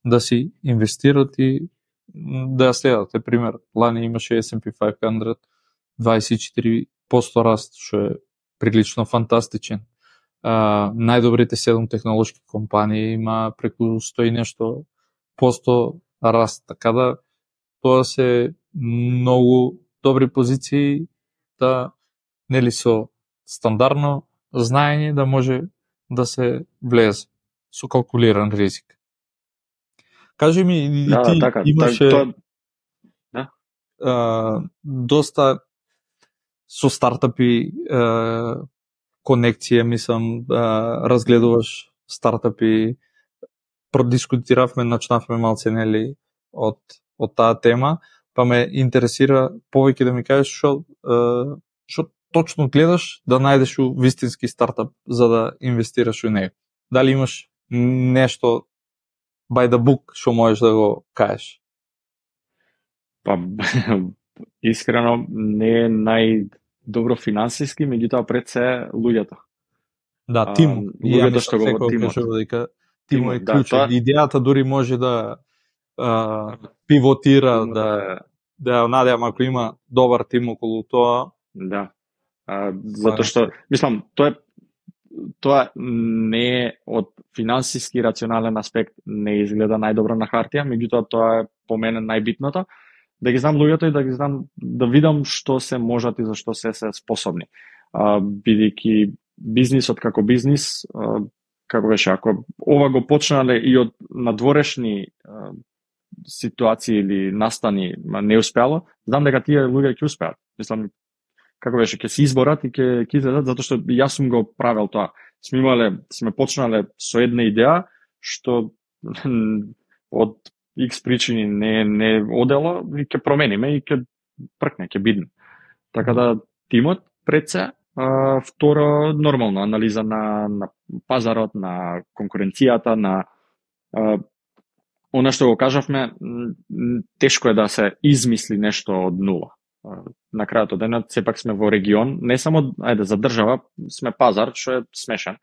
Speaker 1: да си инвестират и да ја следат. Пример, лани имаше S&P 500 24% раст, што е прилично фантастичен. Најдобрите 7 технолошки компании има преку 100 и нешто посто раст, така да тоа се многу добри позиции да, нели, со стандардно знаење да може да се влезе со калкулиран ризик. Кажи ми, и ти
Speaker 2: така,
Speaker 1: имаше доста со стартапи конекција, мислам, разгледуваш стартапи, продискутиравме, начнавме малце, нели, од таа тема, па ме интересира повеќе да ми кажеш што точно гледаш да најдеш у вистински стартап за да инвестираш у него? Дали имаш нешто by the book што можеш да го кажеш?
Speaker 2: Па искрено не е најдобро финансиски, меѓутоа пред се луѓето.
Speaker 1: Да, тим.
Speaker 2: Луѓето што го тимот.
Speaker 1: Дека тимот е
Speaker 2: Да,
Speaker 1: клучен. Идејата дури може да пивотира, да надевам ако има добар тим околу тоа.
Speaker 2: Да. Затоа што, мислам, тоа не е од финансиски рационален аспект не изгледа најдобро на хартија, меѓутоа тоа е по мене најбитното, да ги знам луѓето и да ги знам, да видам што се можат и за што се способни. Бидејќи бизнисот како бизнис, како беше, ако ова го почнале и од надворешни ситуации или настани не успеало, знам дека тие луѓе ќе успеат. Мислам, како беше, ќе се изборат и ќе излезат, затоа што јас сум го правел тоа. Сме почнале со една идеја што од X причини не одело и ќе промениме и ќе пркне, ќе бидне. Така да тимот пред се, второ нормално анализа на пазарот, на конкуренцијата, на она што го кажавме, тешко е да се измисли нешто од нула. На крајот од денот сепак сме во регион, не само за држава, сме пазар што е смешен.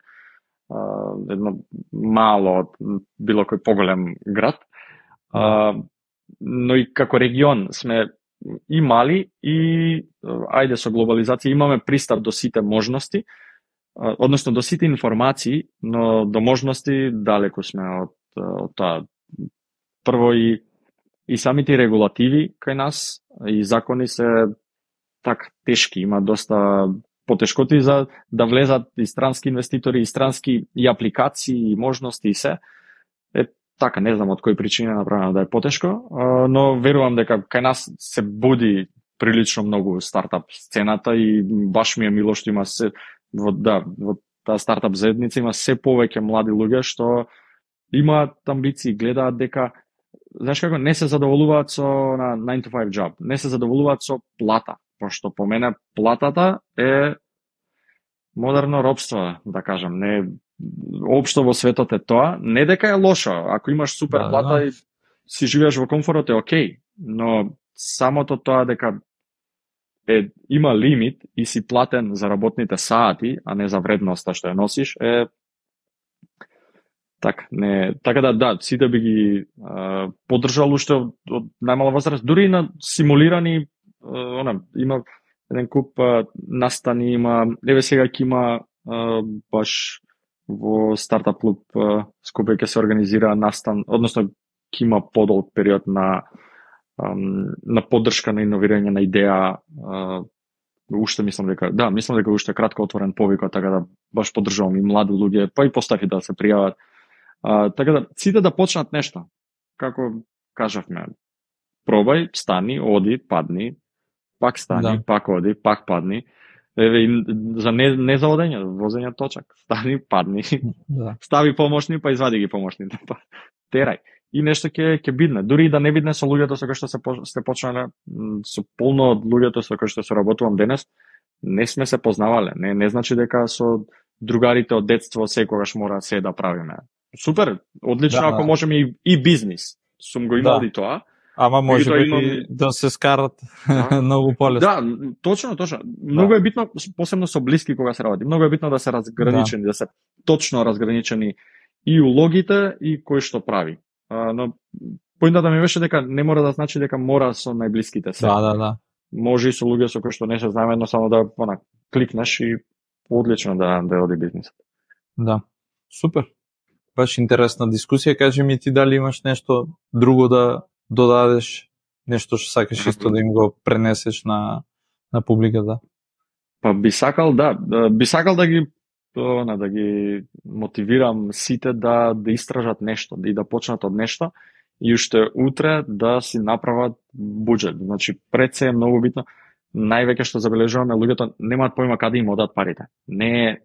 Speaker 2: Едно мало од било кој поголем град. Но и како регион сме и мали и со глобализација имаме пристап до сите можности, односно до сите информации, но до можности далеку сме од тоа. Прво и самите регулативи кај нас и закони се така тешки, има доста потешкоти за да влезат и странски инвеститори, и странски и апликации, и можности и се. Така, не знам од кој причина е направено да е потешко, но верувам дека кај нас се буди прилично многу стартап сцената и баш ми е мило што има се во таа стартап заедница има се повеќе млади луѓе што имаат амбиции, гледаат дека знаеш како не се задоволуваат со 9 to 5 job, не се задоволуваат со плата, пошто по мене платата е модерно робство, да кажам, не општо во светот е тоа, не дека е лошо, ако имаш супер плата и си живееш во комфорот е окей, но самото тоа дека има лимит и си платен за работните сати, а не за вредноста што ја носиш, е така да, сите би ги поддржал уште од најмала возраст, дури и на симулирани, има еден куп настани, има, сега ќе има баш во стартап клуб Скопје ќе се организира настан, односно ќе има подолг период на поддршка на иновирање на идеја. Уште мислам дека уште кратко отворен повикот, така да баш поддржувам и млади луѓе, па и постафи да се пријават. Така да сите да почнат нешто. Како кажавме, пробај, стани, оди, падни, пак стани, пак оди, пак падни. За не за одење, возење точак. Стани, падни, стави помошни, па извади ги помошните. Терај. И нешто ќе бидне. Дури и да не бидне со луѓето со кои што сте почнале, со полно од луѓето со кои што се работувам денес, не сме се познавале. Не значи дека со другарите од детство секогаш мора се да правиме. Супер, одлично ако можеме и бизнис. Сум го имал и тоа.
Speaker 1: Ама може би да се скарат многу полесно.
Speaker 2: Да, точно. Многу е битно, посебно со блиски кога се работи. Многу е битно да се разграничени, да се точно разграничени и улогите и кој што прави. Но поинтата ми беше дека не мора да значи дека мора со најблиските се.
Speaker 1: Да.
Speaker 2: Може и со луѓе со кои што не се знаеме, но само да кликнеш и одлично да оди бизнисот.
Speaker 1: Да. Супер. Баш интересна дискусија. Кажи ми ти дали имаш нешто друго да додадеш, нешто што сакаш исто да им го пренесеш на публиката?
Speaker 2: Па би сакал да ги мотивирам сите да истражат нешто, и да почнат од нешто и уште утре да си направат буџет. Значи пред се е многу битно. Највеќе што забележуваме, луѓето немаат појма каде им одат парите. Не е,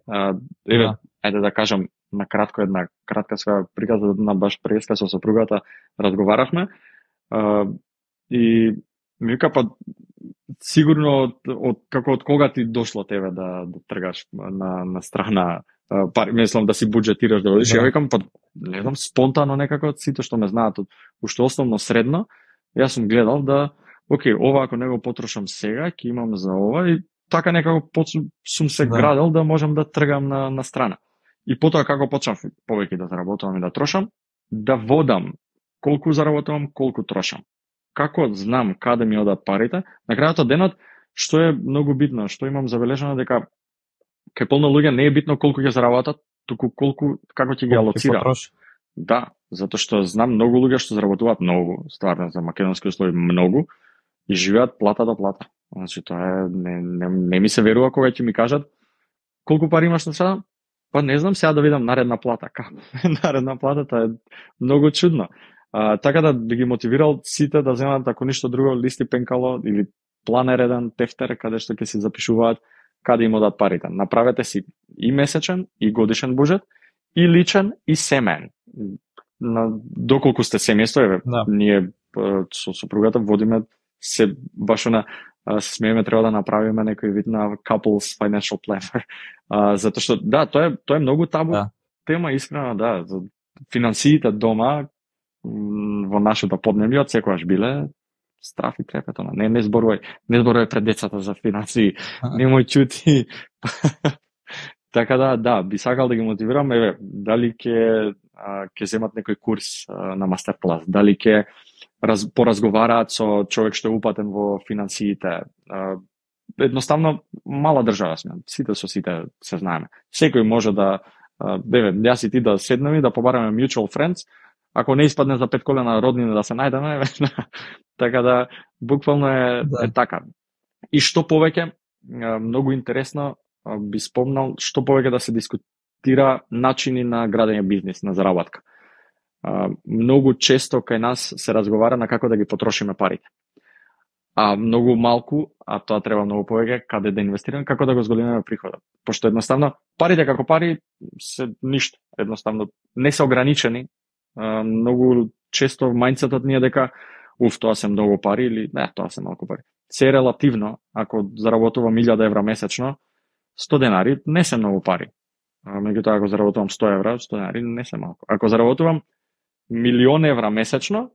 Speaker 2: ајде да кажам на кратко една кратка своја приказа на баш преска со сопругата разговаравме и ми вика па сигурно како од кога ти дошло тебе да тргаш на страна пари, мислам да си буџетираш да одиш. Ја викам, па не знам, спонтано некако сите што ме знаат уште основно средно, јас сум гледал да окей, ова ако не го потрошам сега, ќе имам за ова и така некако сум се градел да можам да тргам на страна. И потоа како почнав повеќе да заработувам и да трошам, да водам колку заработувам, колку трошам. Како знам каде ми одат парите, на крајот од денот, што е многу битно, што имам забележано дека кај полно луѓе не е битно колку ќе заработат, туку како ќе ги алоцира. Да, затоа што знам многу луѓе што заработуваат многу, стварно за македонски услови многу и живеат плата до плата. Значи тоа не ми се верува кога ќе ми кажат колку пари имаш на страна. Па не знам, сега да видам наредна плата. Како? Наредна плата, тоа е многу чудно. Така да би ги мотивирал сите да земат, ако ништо друго, листи пенкало или планер еден тефтер, каде што ќе се запишуваат каде им одат парите. Направете си и месечен, и годишен буџет, и личен, и семеен. Доколку сте семејство, ние со супругата водиме се баш се смееме, треба да направиме некој вид на couples financial planner. Затоа што тоа е многу табу тема, искрено, за финансиите дома во нашето поднебје од секогаш биле страф и трепет. Не зборувај пред децата за финансии, немој чути. Така би сакал да ги мотивирам, дали ќе земат некој курс на мастер-клас, дали ќе поразговараат со човек што е упатен во финансиите. Едноставно, мала држава сме, сите со сите се знаеме. Секој може јас и ти да седнеме и да побараме mutual friends, ако не испадне за 5 колена роднина да се најдеме, така буквално е така. И што повеќе, многу интересно, би спомнал, што повеќе да се дискутира начини на градење бизнис, на заработка. Многу често кај нас се разговара на како да ги потрошиме парите. А многу малку, а тоа треба многу повеќе, каде да инвестираме, како да го зголемиме приходот. Пошто едноставно, парите како пари се ништо. Едноставно, не се ограничени. Многу често мајндсетот ни е дека тоа се многу пари или не, тоа се малку пари. Се е релативно, ако заработувам 1000 евра месечно, 100 денари не се многу пари. Меѓутоа, ако заработувам 100 евра, 100 денари не се малку. Ако заработувам 1.000.000 евра месечно,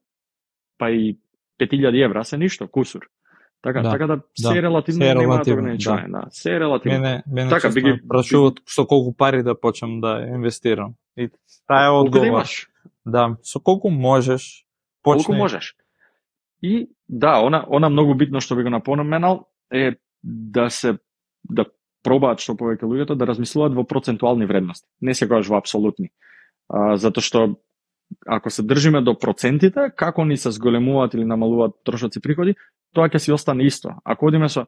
Speaker 2: па и 5.000 евра се ништо, кусур. Така се е релативно, нема ограничување. Се е релативно.
Speaker 1: Мене така би ги прашуват со колку пари да почнам да инвестирам. И таа е одговор. Да, со колку можеш, почни.
Speaker 2: Колку можеш. И она многу битно што би го напоменал е да пробаат што повеќе луѓето да размислуваат во процентуални вредности, не секогаш во апсолутни. Затоа што ако се држиме до процентите, како ни се зголемуваат или намалуваат трошоци приходи, тоа ќе си остане исто. Ако одиме со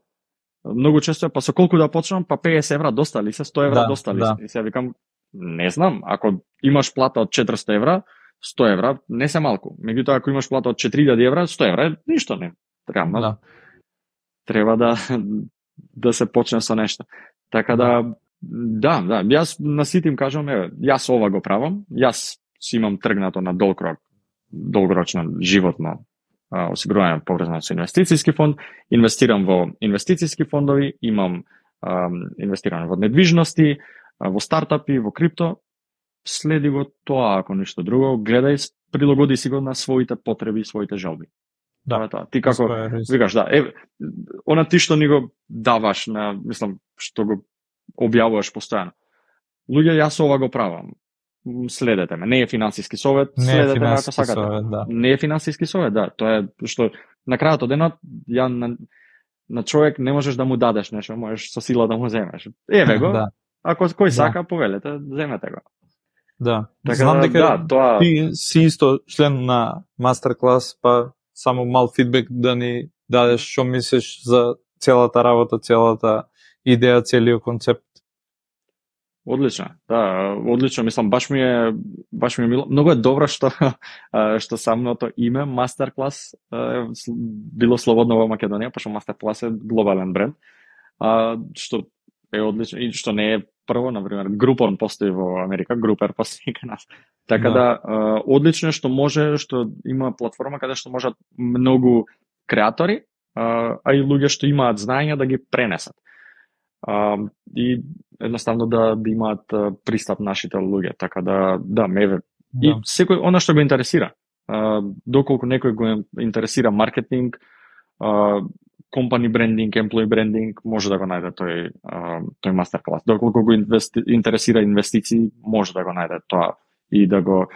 Speaker 2: многу често па со колку да почнам, па 50 евра достали се, 100 евра достали се. И сега викам, не знам, ако имаш плата од 400 евра, 100 евра не се малку. Меѓутоа, ако имаш плата од 4000 евра, 100 евра ништо не. Треба да се почне со нешто. Така јас на сите им кажам, јас ова го правам, јас си имам тргнато на долгорочно животно осигурување поврзано со инвестициски фонд, инвестирам во инвестициски фондови, имам инвестирано во недвижности, во стартапи, во крипто. Следи го тоа, ако ништо друго, гледај, прилагоди си го на своите потреби, своите желби. Ти како викаш, она ти што ни го даваш што го објавуваш постојано. Луѓе, јас ова го правам. Следете ме. Не е финансиски совет, следете ме ако сакате. Не е финансиски совет, Тоа е што на крајот од денот на човек не можеш да му дадеш нешто, можеш со сила да му земеш. Еве го. Ако кој сака, повелете, земете го.
Speaker 1: Така, знам дека ти си исто член на мастер-клас, па само мал фидбек да ни дадеш што мислиш за целата работа, целата идеја, целиот концепт.
Speaker 2: Одлично. Одлично, мислам, баш ми е мило. Многу е добро што самото име мастер-клас било слободно во Македонија, пошто мастер-клас е глобален бренд. Што е одлично и што не е прво, например, Groupon постои во Америка, Grouper постои кај нас. Така одлично што има платформа каде што можат многу креатори а и луѓе што имаат знаења да ги пренесат. И едноставно да имаат пристап нашите луѓе, така да меве. И секој она што го интересира. Доколку некој го интересира маркетинг, company branding, employee branding, може да го најде тој мастер клас. Доколку го интересира инвестиции, може да го најде тоа и да го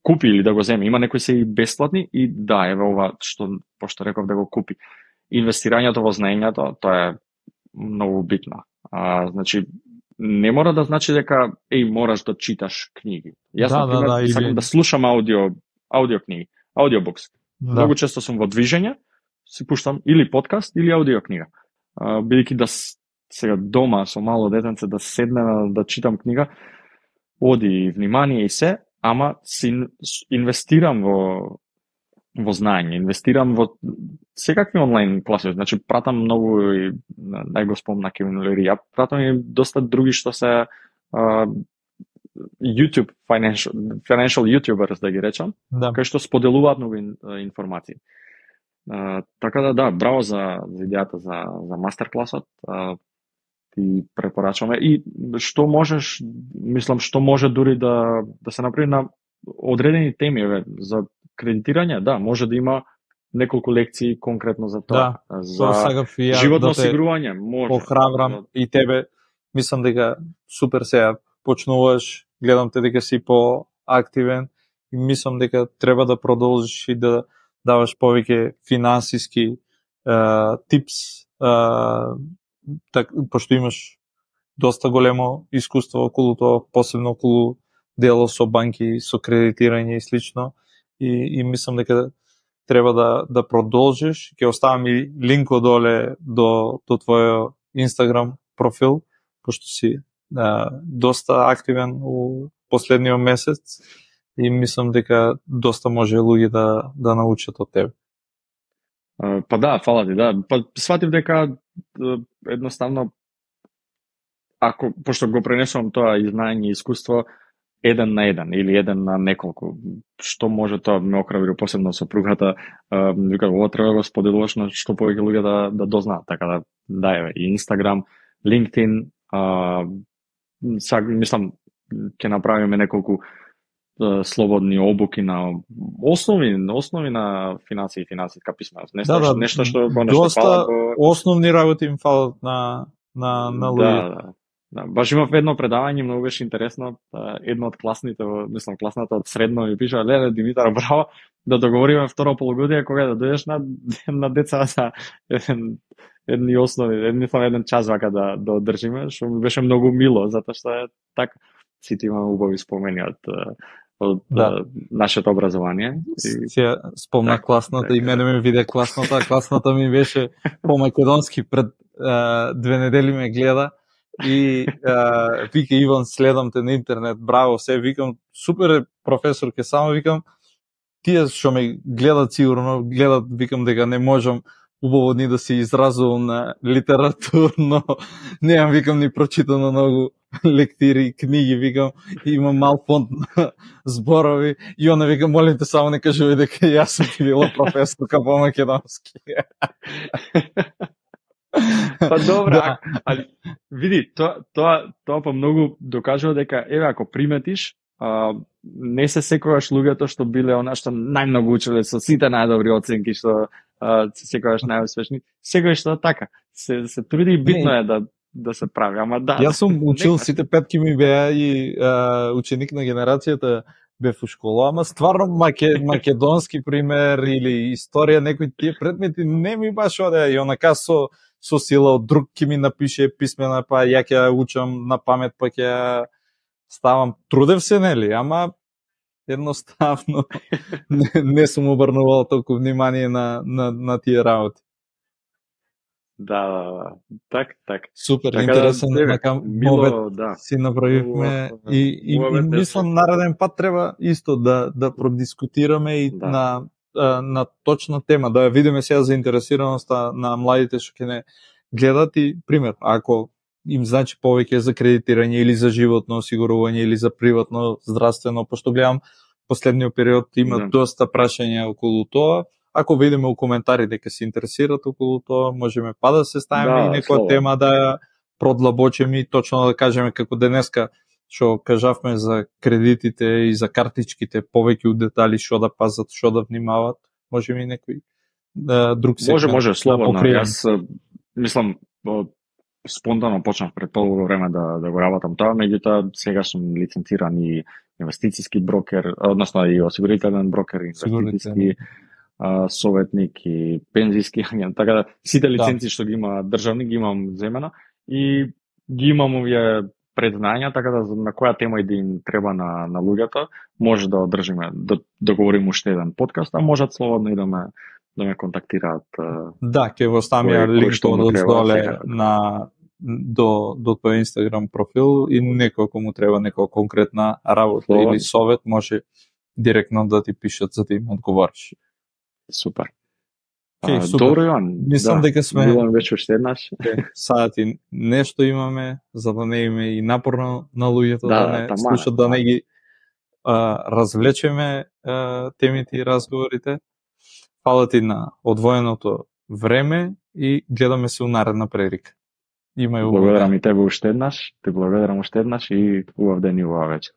Speaker 2: купи или да го земе. Има некои се и бесплатни и да, еве ова што пошто реков да го купи. Инвестирањето во знаењето, тоа е многу битно. Значи не мора да значи дека мораш да читаш книги. Јас например сакам да слушам аудио книги, аудиобукс. Многу често сум во движење, си пуштам или подкаст или аудио книга. Бидејќи да сега дома со мало детенце да седнем да читам книга, оди внимание и се, ама си инвестирам во знаење, инвестирам во секакви онлайн класи, значи пратам многу и нај го спомна Кевин Лери, ја пратам и доста други што се YouTube financial YouTubers да ги речам, кај што споделуваат многу информации. Така да, браво за идејата за мастер класот. Ти препорачуваме и што можеш, мислам што може дури да се направи на одредени теми за кредитирање, може да има неколку лекции конкретно за тоа. За животно осигурување, може.
Speaker 1: Похрабрам и тебе, мислам дека супер сега почнуваш, гледам те дека си поактивен и мислам дека треба да продолжиш и да даваш повеќе финансиски типс, пошто имаш доста големо искуство околу тоа, посебно околу дело со банки, со кредитирање и слично. И мислам дека треба да продолжиш. Ќе оставам и линк одоле до твојот Инстаграм профил, пошто си доста активен у последниот месец и мислам дека доста може луѓе да научат од тебе.
Speaker 2: Па да, фала ти, да. Па сватив дека едноставно пошто го пренесувам тоа и знаење и искуство еден на еден или еден на неколку, што може тоа ме окрабри посебно сопругата, вика ова треба да го споделуваш на што повеќе луѓе да дознаат, така да еве и Инстаграм, LinkedIn, мислам ќе направиме неколку слободни обуки на основи на финансии и финансиска писменост. Нешто што
Speaker 1: доста основни работи им фалат на луѓе.
Speaker 2: Да, баш имав едно предавање, многу беше интересно. Едно од класните, мислам класната од средно ми пиша: "Леле Димитар, браво, да договориме второ полугодие кога да дојдеш на деца за еден час вака да одржиме", што ми беше многу мило, затоа што е така. Сите имаме убави спомени од нашето образование.
Speaker 1: Се спомна класната и мене ме виде класната. Класната ми беше по-македонски, пред 2 недели ме гледа и вика: "Иван, следам те на интернет, браво, се", викам: "Супер професор, ке само викам тие што ме гледат сигурно гледат, викам дека не можам убаво ни да се изразувам на литературно, немам, викам, ни прочитано многу лектири, книги, викам, имам мал фонд на зборови и она вика: "Молим те, само не кажувај дека јас сум ти била професорка по македонски."
Speaker 2: Па добра, али види, тоа па многу докажува дека еве ако приметиш, не се секогаш луѓето што биле она што најмногу учеле со сите најдобри оценки, што секогаш најуспешни, секогаш тоа така. Се труди и битно е да се прави, ама да.
Speaker 1: Јас сум учил, сите петки ми беа и ученик на генерацијата бев у школа, ама стварно македонски пример или историја, некои тие предмети не ми баш одеа и онака со сила од друг ќе ми напише писмена, па ја ќе ја учам на памет, па ќе ставам. Трудев се, нели, ама едноставно не сум обрнувал толку внимание на тие работи.
Speaker 2: Да. Так.
Speaker 1: Супер, така интересен момент си направивме и мислам нареден пат треба исто да продискутираме и на точна тема, да видиме сега заинтересираноста на младите што ќе не гледат и пример, ако им значи повеќе за кредитирање или за животно осигурување или за приватно здравствено, пошто гледам последниот период има доста прашања околу тоа, ако видиме у коментари дека се интересират околу тоа, можеме па да се ставиме и некоја тема да ја продлабочиме и точно да кажеме како денеска што кажавме за кредитите и за картичките повеќе у детали што да пазат, што да внимават, можеме и некој друг сегмент.
Speaker 2: Може, слободно. Јас мислам спонтано почнав пред полго време да го работам тоа, меѓутоа сега сум лиценциран и инвестициски брокер, односно и осигурителен брокер, инвестициски советник и пензиски агент, така да сите лиценци што ги има државни ги имам земена и ги имам овие предзнања, така да на која тема и да им треба на луѓето, може да одржиме, да договориме уште еден подкаст, а можат слободно и да ме контактираат.
Speaker 1: Да, ќе го ставиме линкот доле до тој Инстаграм профил и некој кому треба некоја конкретна работа или совет, може директно да ти пишат за да им одговориш.
Speaker 2: Супер.
Speaker 1: Супер.
Speaker 2: Добро, Иван.
Speaker 1: Мислам дека сме
Speaker 2: билам веќе уште еднаш.
Speaker 1: Сати нешто имаме за да не име и напорно на луѓето да не слушат, да не ги развлечеме темите и разговорите. Фала ти на одвоеното време и гледаме се у наредна прилика.
Speaker 2: Благодарам и тебе уште еднаш, те благодарам уште еднаш и убав ден и убава вечер.